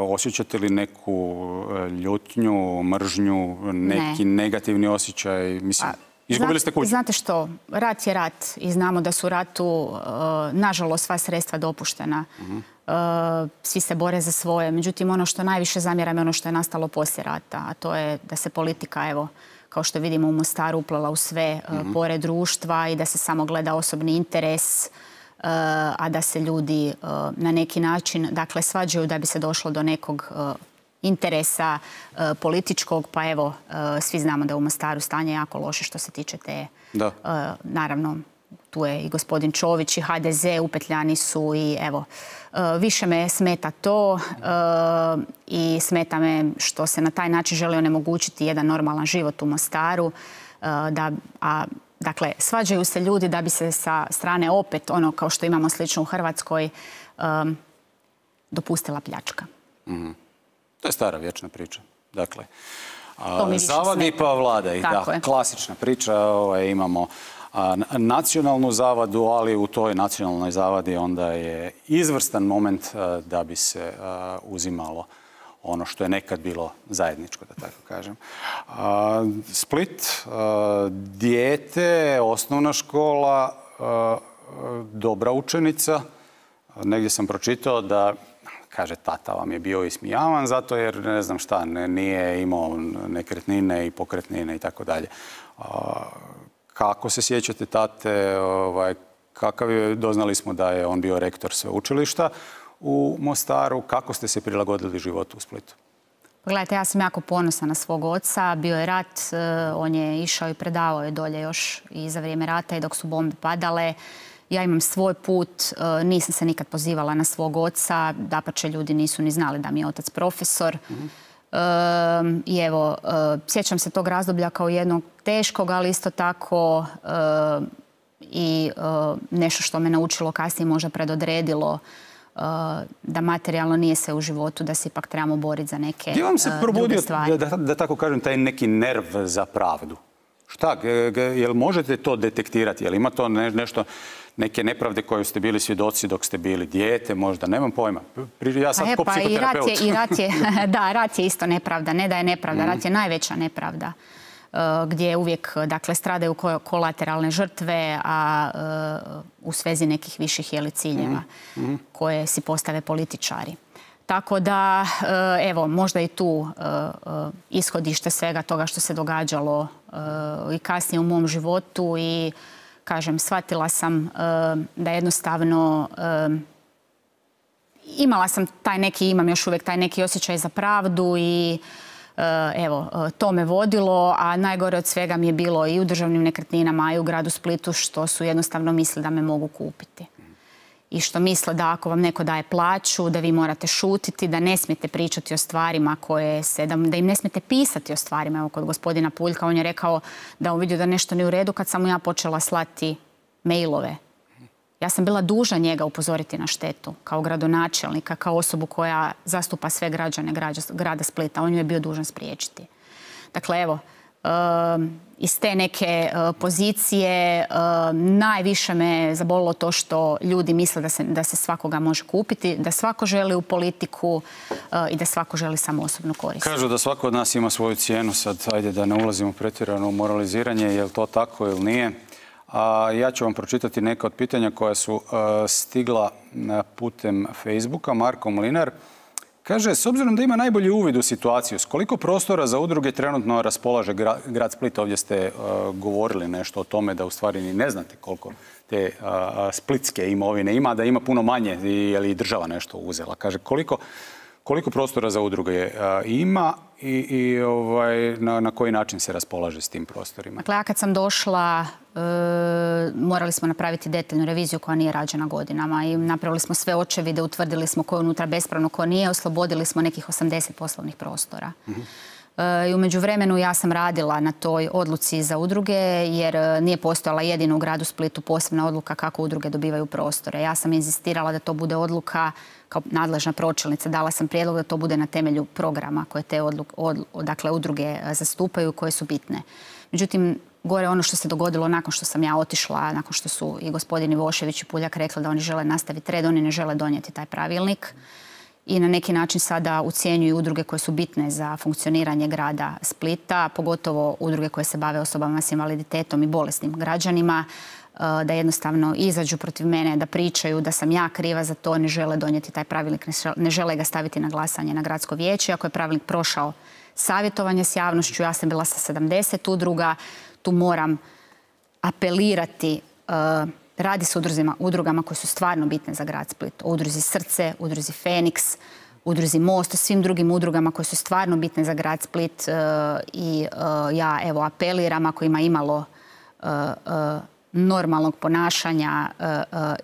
osjećate li neku ljutnju, mržnju, neki negativni osjećaj? Mislim, izgubili ste kuću. Znate što, rat je rat i znamo da su u ratu, nažalost, sva sredstva dopuštena. Svi se bore za svoje. Međutim, ono što najviše zamjeram je ono što je nastalo poslije rata, a to je da se politika, evo, kao što vidimo u Mostaru, uplela u sve pore društva i da se samo gleda osobni interes, a da se ljudi na neki način, dakle, svađaju da bi se došlo do nekog interesa političkog, pa evo, svi znamo da je u Mostaru stanje jako loše što se tiče te, naravno, tu je i gospodin Čović i HDZ, upetljani su i evo, više me smeta to i smeta me što se na taj način želi onemogućiti jedan normalan život u Mostaru. Dakle, svađaju se ljudi da bi se sa strane opet, ono kao što imamo slično u Hrvatskoj, dopustila pljačka. To je stara vječna priča. Dakle, zavadi pa vladaj. Klasična priča, imamo nacionalnu zavadu, ali u toj nacionalnoj zavadi onda je izvrstan moment da bi se uzimalo ono što je nekad bilo zajedničko, da tako kažem. Split, dijete, osnovna škola, dobra učenica. Negdje sam pročitao da, kaže, tata vam je bio ismijavan zato jer, ne znam šta, nije imao nekretnine i pokretnine i tako dalje. Kako se sjećate tate, kakav je, doznali smo da je on bio rektor sveučilišta u Mostaru, kako ste se prilagodili životu u Splitu? Gledajte, ja sam jako ponosna na svog oca, bio je rat, on je išao i predavao je dolje još i za vrijeme rata i dok su bombe padale. Ja imam svoj put, nisam se nikad pozivala na svog oca, dapače ljudi nisu ni znali da mi je otac profesor. I evo, sjećam se tog razdoblja kao jednog teškog, ali isto tako i nešto što me naučilo kasnije možda predodredilo da materijalno nije sve u životu, da se ipak trebamo boriti za neke druge stvari. Gdje vam se probudio, da tako kažem, taj neki nerv za pravdu? Šta, jel možete to detektirati? Jel ima to nešto, neke nepravde koje ste bili svjedoci dok ste bili dijete, možda, nemam pojma. Ja sad ko psihoterapeut. Da, rat je isto nepravda, ne da je nepravda, rat je najveća nepravda. gdje uvijek dakle, stradaju kolateralne žrtve, a u svezi nekih viših ciljeva koje si postave političari. Tako da, evo, možda i tu ishodište svega toga što se događalo i kasnije u mom životu i, kažem, shvatila sam da jednostavno imam još uvijek taj neki osjećaj za pravdu i evo, to me vodilo, a najgore od svega mi je bilo i u državnim nekretninama i u gradu Splitu što su jednostavno mislili da me mogu kupiti. I što misle da ako vam neko daje plaću, da vi morate šutiti, da ne smijete pričati o stvarima da im ne smijete pisati o stvarima. Evo, kod gospodina Puljka, on je rekao da on vidio da nešto nije u redu kad sam mu ja počela slati mailove. Ja sam bila dužna njega upozoriti na štetu kao gradonačelnika, kao osobu koja zastupa sve građane grada Splita. On ju je bio dužan spriječiti. Dakle, evo, iz te neke pozicije najviše me zabolilo to što ljudi misle da se svakoga može kupiti, da svako želi u politiku i da svako želi samo osobnu korist. Kažu da svako od nas ima svoju cijenu. Sad, ajde da ne ulazimo pretjerano u moraliziranje, je li to tako ili nije. Ja ću vam pročitati neka od pitanja koja su stigla putem Facebooka. Marko Mlinar kaže, s obzirom da ima najbolji uvid u situaciju, s koliko prostora za udruge trenutno raspolaže grad Split? Ovdje ste govorili nešto o tome da u stvari ni ne znate koliko te splitske imovine ima, da ima puno manje, je li država nešto uzela. Kaže, koliko prostora za udruge ima i na koji način se raspolaže s tim prostorima? Dakle, ja kad sam došla, morali smo napraviti detaljnu reviziju koja nije rađena godinama i napravili smo sve očevide, utvrdili smo ko je unutra bespravno, ko nije, oslobodili smo nekih 80 poslovnih prostora. I u međuvremenu ja sam radila na toj odluci za udruge jer nije postojala jedino u gradu Splitu posebna odluka kako udruge dobivaju prostore. Ja sam inzistirala da to bude odluka kao nadležna pročelnica. Dala sam prijedlog da to bude na temelju programa koje te udruge zastupaju, koje su bitne. Međutim, gore ono što se dogodilo nakon što sam ja otišla, nakon što su i gospodin Ivošević i Puljak rekli da oni žele nastaviti red, oni ne žele donijeti taj pravilnik i na neki način sada ucjenjuju udruge koje su bitne za funkcioniranje grada Splita, pogotovo udruge koje se bave osobama s invaliditetom i bolesnim građanima, da jednostavno izađu protiv mene, da pričaju da sam ja kriva za to, ne žele donijeti taj pravilnik, ne žele ga staviti na glasanje na gradsko vijeće. Ako je pravilnik prošao savjetovanje s javnošću, ja sam bila sa 70 udruga, tu moram apelirati. Radi se o udrugama koje su stvarno bitne za grad Split. O udruzi Srce, udruzi Feniks, udruzi Most, o svim drugim udrugama koje su stvarno bitne za grad Split. I ja evo apeliram ako ima imalo normalnog ponašanja,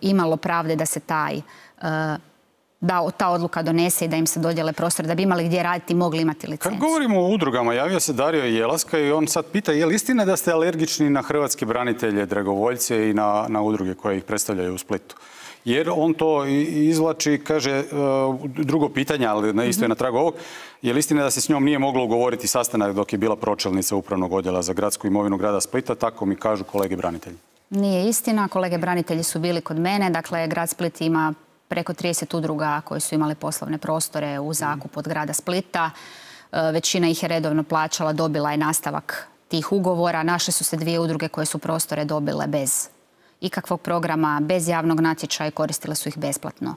imalo pravde da se ta odluka donese i da im se dodijele prostor, da bi imali gdje raditi, mogli imati licencu. Kad govorimo o udrugama, javio se Dario Jelaska i on sad pita je li istina da ste alergični na hrvatske branitelje, dragovoljce i na udruge koje ih predstavljaju u Splitu? Jer on to izvlači, kaže, drugo pitanje, ali isto je na tragu ovog, je li istina da se s njom nije moglo ugovoriti sastanak dok je bila pročelnica Upravnog odjela za gradsku imovinu grada Splita, tako mi kažu kolege branitelji. Nije istina, kolege branitelji su bili kod mene, dakle grad Split ima preko 30 udruga koje su imale poslovne prostore u zakup od grada Splita. Većina ih je redovno plaćala, dobila je nastavak tih ugovora. Našle su se 2 udruge koje su prostore dobile bez ikakvog programa, bez javnog natječaja i koristile su ih besplatno.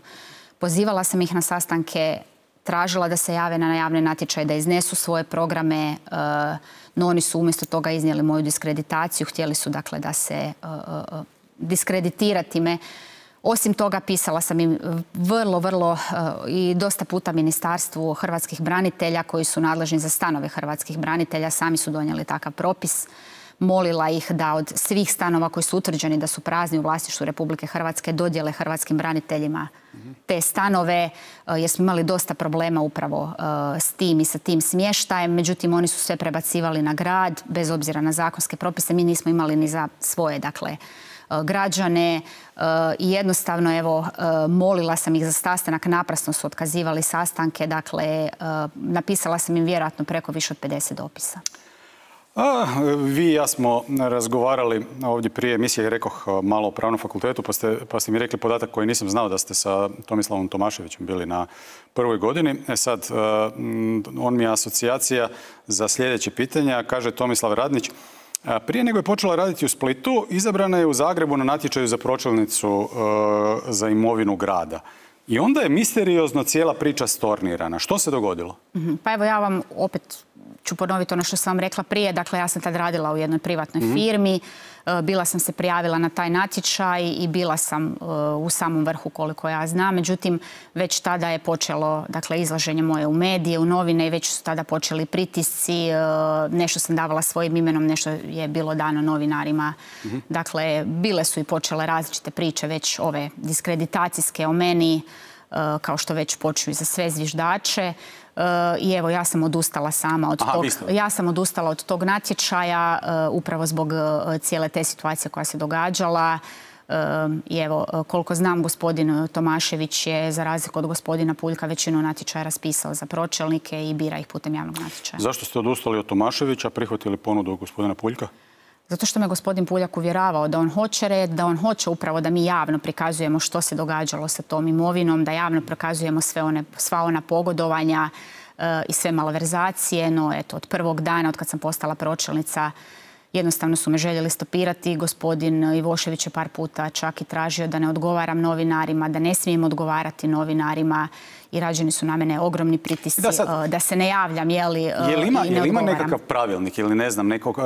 Pozivala sam ih na sastanke, tražila da se jave na javne natječaje, da iznesu svoje programe, no oni su umjesto toga iznijeli moju diskreditaciju. Htjeli su dakle da se diskreditirati me. Osim toga, pisala sam im vrlo i dosta puta Ministarstvu hrvatskih branitelja koji su nadležni za stanove hrvatskih branitelja. Sami su donijeli takav propis. Molila ih da od svih stanova koji su utvrđeni da su prazni u vlasništvu Republike Hrvatske dodijele hrvatskim braniteljima te stanove, jer smo imali dosta problema upravo s tim i sa tim smještajem. Međutim, oni su sve prebacivali na grad, bez obzira na zakonske propise. Mi nismo imali ni za svoje, dakle, građane i jednostavno, evo, molila sam ih za sastanak, naprasno su otkazivali sastanke, dakle, napisala sam im vjerojatno preko više od 50 dopisa. Vi i ja smo razgovarali ovdje prije emisije, rekoh malo o Pravnom fakultetu, pa ste mi rekli podatak koji nisam znao, da ste sa Tomislavom Tomaševićem bili na prvoj godini. Sad, on mi je asocijacija za sljedeće pitanja. Kaže Tomislav Radnić, prije nego je počela raditi u Splitu, izabrana je u Zagrebu na natječaju za pročelnicu za imovinu grada. I onda je misteriozno cijela priča stornirana. Što se dogodilo? Pa evo, ja vam opet ću ponoviti ono što sam vam rekla prije. Dakle, ja sam tad radila u jednoj privatnoj firmi. Bila sam se prijavila na taj natječaj i bila sam u samom vrhu, koliko ja znam. Međutim, već tada je počelo, dakle, izlaženje moje u medije, u novine i već su tada počeli pritisci. Nešto sam davala svojim imenom, nešto je bilo dano novinarima. Dakle, bile su i počele različite priče, već ove diskreditacijske o meni, kao što već počnu i za sve zviždače. I evo, ja sam odustala sama od tog. Ja sam odustala od tog natječaja upravo zbog cijele te situacije koja se događala. I evo, koliko znam, gospodin Tomašević je, za razliku od gospodina Puljka, većinu natječaja raspisao za pročelnike i bira ih putem javnog natječaja. Zašto ste odustali od Tomaševića, prihvatili ponudu gospodina Puljka? Zato što me gospodin Puljak uvjeravao da on hoće red, da on hoće upravo da mi javno prikazujemo što se događalo sa tom imovinom, da javno prikazujemo sva ona pogodovanja i sve malverzacije. No, eto, od prvog dana, od kad sam postala pročelnica, jednostavno su me željeli stopirati. Gospodin Ivošević je par puta čak i tražio da ne odgovaram novinarima, da ne smijem odgovarati novinarima. I rađeni su na mene ogromni pritisci da se ne javljam, Je li ima nekakav pravilnik ili ne znam, nekog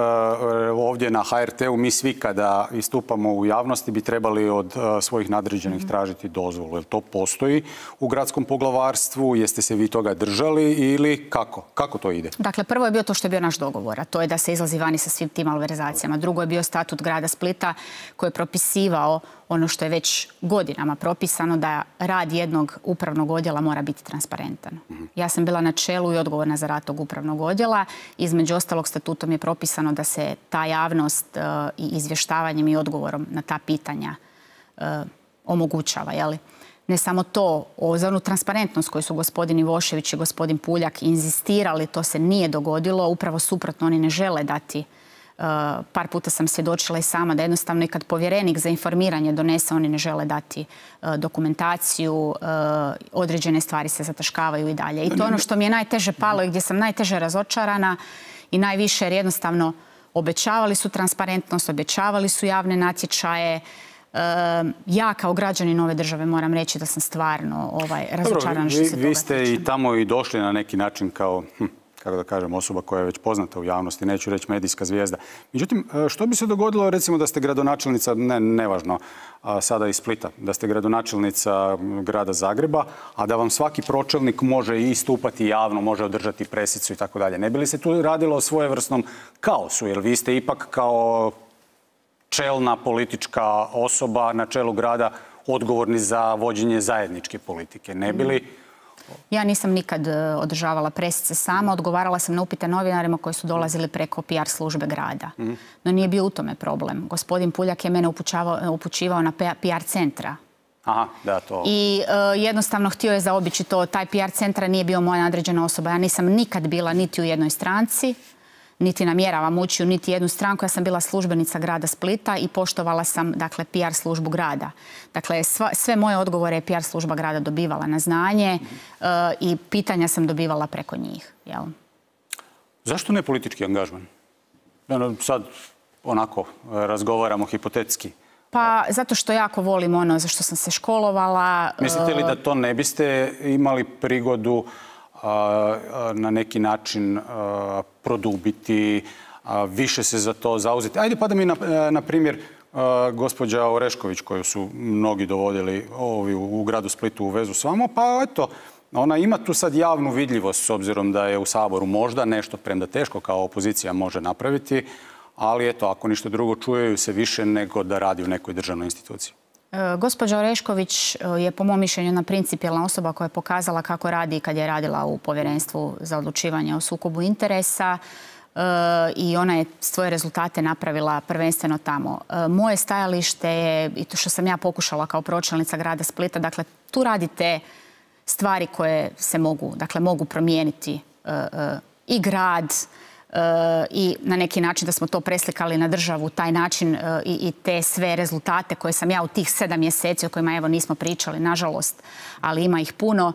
ovdje na HRT-u mi svi kada istupamo u javnosti bi trebali od svojih nadređenih tražiti dozvolu. Jel to postoji u gradskom poglavarstvu? Jeste se vi toga držali ili kako? Kako to ide? Dakle, prvo je bio to što je bio naš dogovor, a to je da se izlazi vani sa svim tim malverzacijama. Drugo je bio statut grada Splita koji je propisivao ono što je već godinama propisano, da rad jednog upravnog odjela mora biti transparentan. Ja sam bila na čelu i odgovorna za rad tog upravnog odjela. Između ostalog, statutom je propisano da se ta javnost i izvještavanjem i odgovorom na ta pitanja omogućava. Ne samo to, za onu transparentnost koju su gospodin Ivošević i gospodin Puljak inzistirali, to se nije dogodilo. Upravo suprotno, oni ne žele dati. Par puta sam svjedočila i sama da jednostavno i kad povjerenik za informiranje donese, oni ne žele dati dokumentaciju, određene stvari se zataškavaju i dalje. I to je ono što mi je najteže palo i gdje sam najteže razočarana i najviše, jer jednostavno obećavali su transparentnost, obećavali su javne natječaje. Ja kao građanin ove države moram reći da sam stvarno razočarana što se toga tiče. Vi ste i tamo i došli na neki način kao kako da kažem, osoba koja je već poznata u javnosti, neću reći medijska zvijezda. Međutim, što bi se dogodilo, recimo, da ste gradonačelnica, nevažno, sada iz Splita, da ste gradonačelnica grada Zagreba, a da vam svaki pročelnik može istupati javno, može održati presicu i tako dalje. Ne bi li se tu radilo o svojevrsnom kaosu, jer vi ste ipak kao čelna politička osoba na čelu grada odgovorni za vođenje zajedničke politike. Ne bi li... Ja nisam nikad održavala presice sama, odgovarala sam na upite novinarima koji su dolazili preko PR službe grada. No nije bio u tome problem. Gospodin Puljak je mene upućivao na PR centra. Aha, da, to... I jednostavno htio je zaobići to. Taj PR centra nije bio moja nadređena osoba. Ja nisam nikad bila niti u jednoj stranci, niti namjeravam ući u niti jednu stranku. Ja sam bila službenica grada Splita i poštovala sam, dakle, PR službu grada. Dakle, sve moje odgovore je PR služba grada dobivala na znanje i pitanja sam dobivala preko njih. Zašto ne politički angažman? Sad onako razgovaramo hipotetski. Pa zato što jako volim ono za što sam se školovala. Mislite li da to ne biste imali prigodu na neki način produbiti, više se za to zauzeti? Ajde, pada mi na primjer gospođa Orešković, koju su mnogi dovodili u gradu Splitu u vezu s vama, pa eto, ona ima tu sad javnu vidljivost s obzirom da je u Saboru možda nešto, premda teško kao opozicija može napraviti, ali eto, ako ništa drugo, čujeju se više nego da radi u nekoj državnoj instituciji. Gospođa Orešković je po mom mišljenju jedna principijelna osoba koja je pokazala kako radi kad je radila u Povjerenstvu za odlučivanje o sukobu interesa i ona je svoje rezultate napravila prvenstveno tamo. Moje stajalište je, i to što sam ja pokušala kao pročelnica grada Splita, dakle tu radite stvari koje se mogu promijeniti i grad, i na neki način da smo to preslikali na državu, taj način i te sve rezultate koje sam ja u tih 7 mjeseci o kojima evo nismo pričali, nažalost, ali ima ih puno,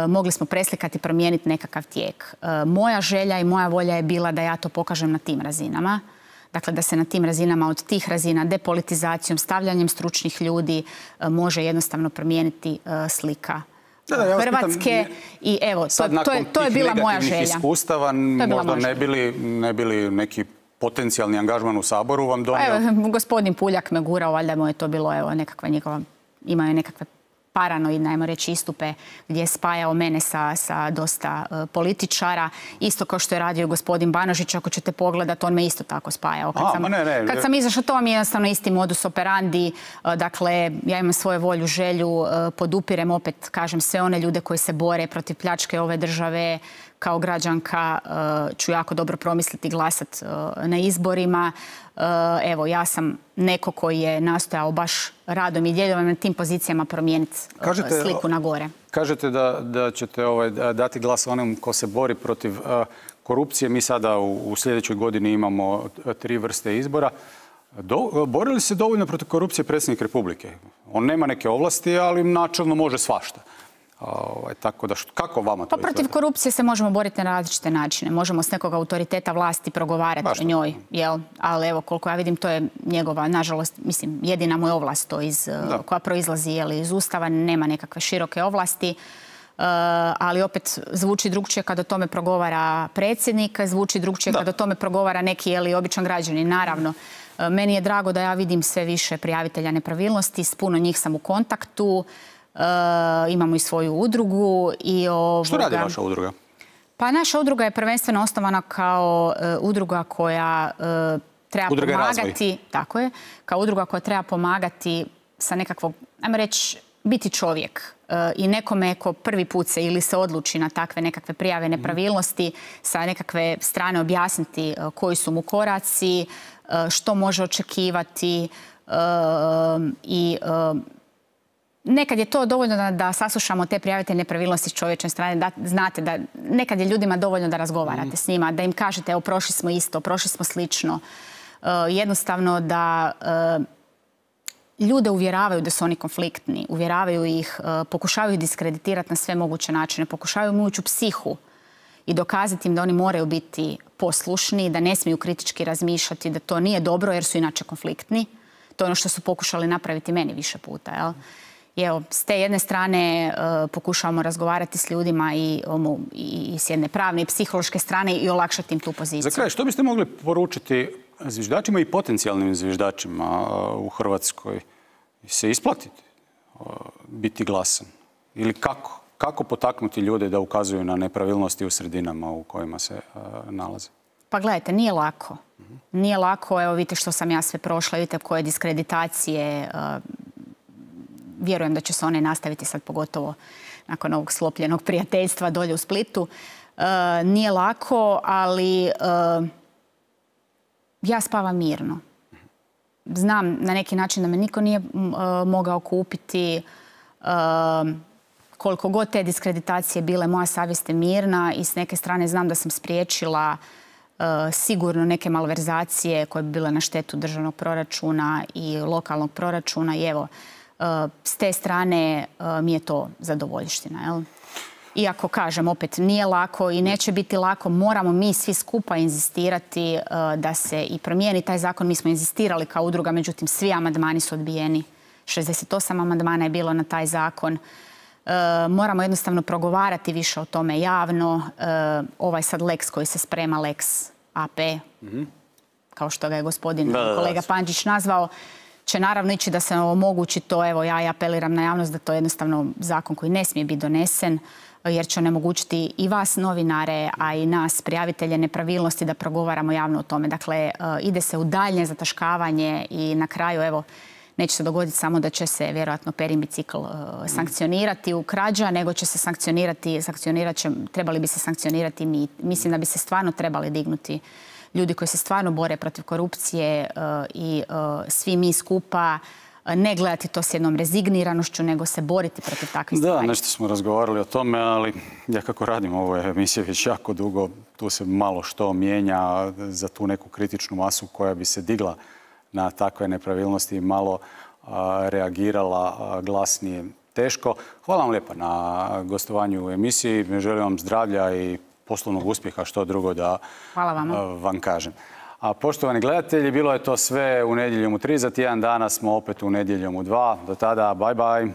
mogli smo preslikati i promijeniti nekakav tijek. Moja želja i moja volja je bila da ja to pokažem na tim razinama. Dakle, da se na tim razinama, od tih razina, depolitizacijom, stavljanjem stručnih ljudi može jednostavno promijeniti slika Hrvatske. I evo, to je bila moja želja. Iskustava, možda ne bili neki potencijalni angažman u Saboru vam donio? Evo, gospodin Puljak me gurao, valjda mu je to bilo, evo, nekakva njegova, imao je nekakve paranoidne, ajmo reći, istupe gdje je spajao mene sa dosta političara. Isto kao što je radio gospodin Banožić, ako ćete pogledati, on me isto tako spajao. Kad sam izašla, to mi je jednostavno isti modus operandi. Dakle, ja imam svoju volju, želju, podupirem opet, kažem, sve one ljude koji se bore protiv pljačke ove države. Kao građanka ću jako dobro promisliti i glasati na izborima. Evo, ja sam neko koji je nastojao baš radom i djelovanjem na tim pozicijama promijeniti sliku na gore. Kažete da ćete dati glas onom ko se bori protiv korupcije. Mi sada u sljedećoj godini imamo 3 vrste izbora. Bori li se dovoljno protiv korupcije predsjednik Republike? On nema neke ovlasti, ali načelno može svašta. Tako da, kako vama to izgleda? Protiv korupcije se možemo boriti na različite načine. Možemo s nekog autoriteta vlasti progovarati o njoj. Ali evo, koliko ja vidim, to je njegova, nažalost, mislim, jedina mu je ovlast to koja proizlazi iz Ustava. Nema nekakve široke ovlasti. Ali opet zvuči drugčije kad o tome progovara predsjednik, zvuči drugčije kad o tome progovara neki običan građanin. Naravno, meni je drago da ja vidim sve više prijavitelja nepravilnosti. S puno njih sam u kontaktu. Imamo i svoju udrugu. Što radi vaša udruga? Pa naša udruga je prvenstveno osnovana kao udruga koja treba pomagati. Tako je. Kao udruga koja treba pomagati sa nekakvog, ajmo reći, biti čovjek. I nekome ko prvi put se ili se odluči na takve nekakve prijave nepravilnosti, sa nekakve strane objasniti koji su mu koraci, što može očekivati i nekad je to dovoljno da saslušamo te prijavitelje nepravilnosti s čovječne strane, da znate da nekad je ljudima dovoljno da razgovarate s njima, da im kažete evo prošli smo isto, prošli smo slično. Jednostavno da ljude uvjeravaju da su oni konfliktni, uvjeravaju ih, pokušavaju ih diskreditirati na sve moguće načine, pokušavaju mu ući u psihu i dokazati im da oni moraju biti poslušni, da ne smiju kritički razmišljati, da to nije dobro jer su inače konfliktni. To je ono što su pokušali napraviti meni više puta, jel? I evo, s te jedne strane pokušavamo razgovarati s ljudima i s jedne pravne i psihološke strane i olakšati im tu poziciju. Za kraj, što biste mogli poručiti zviždačima i potencijalnim zviždačima u Hrvatskoj? Se isplatiti biti glasan? Ili kako? Kako potaknuti ljude da ukazuju na nepravilnosti u sredinama u kojima se nalaze? Pa gledajte, nije lako. Nije lako, evo vidite što sam ja sve prošla, vidite koje diskreditacije. Vjerujem da će se one nastaviti sad, pogotovo nakon ovog sklopljenog prijateljstva dolje u Splitu. Nije lako, ali ja spavam mirno. Znam na neki način da me niko nije mogao kupiti. Koliko god te diskreditacije bile, moja savjest je mirna i s neke strane znam da sam spriječila sigurno neke malverzacije koje bi bile na štetu državnog proračuna i lokalnog proračuna. I evo, s te strane mi je to zadovoljština, jel? Iako, kažem, opet nije lako i neće biti lako, moramo mi svi skupa inzistirati da se i promijeni taj zakon. Mi smo inzistirali kao udruga, međutim svi amandmani su odbijeni. 68 amandmana je bilo na taj zakon. Moramo jednostavno progovarati više o tome javno. Ovaj sad lex koji se sprema, lex AP, kao što ga je gospodin kolega Pančić nazvao, će naravno ići da se omogući to. Evo, ja apeliram na javnost da to je jednostavno zakon koji ne smije biti donesen, jer će onemogućiti i vas novinare, a i nas prijavitelje nepravilnosti da progovaramo javno o tome. Dakle, ide se u daljnje zataškavanje i na kraju, evo, neće se dogoditi samo da će se vjerojatno Perin bicikl sankcionirati u krađa, nego će se trebali bi se sankcionirati mi. Mislim da bi se stvarno trebali dignuti ljudi koji se stvarno bore protiv korupcije i svi mi skupa ne gledati to s jednom rezigniranošću, nego se boriti protiv takvih stvari. Da, nešto smo razgovarali o tome, ali ja kako radim ove emisije već jako dugo, tu se malo što mijenja za tu neku kritičnu masu koja bi se digla na takve nepravilnosti i malo reagirala glasnije. Teško. Hvala vam lijepa na gostovanju u emisiji. Želim vam zdravlja i poslovnog uspjeha, što drugo da vam kažem. A poštovani gledatelji, bilo je to sve u Nedjeljom u 3. Za tjedan dana smo opet u Nedjeljom u 2. Do tada, bye bye.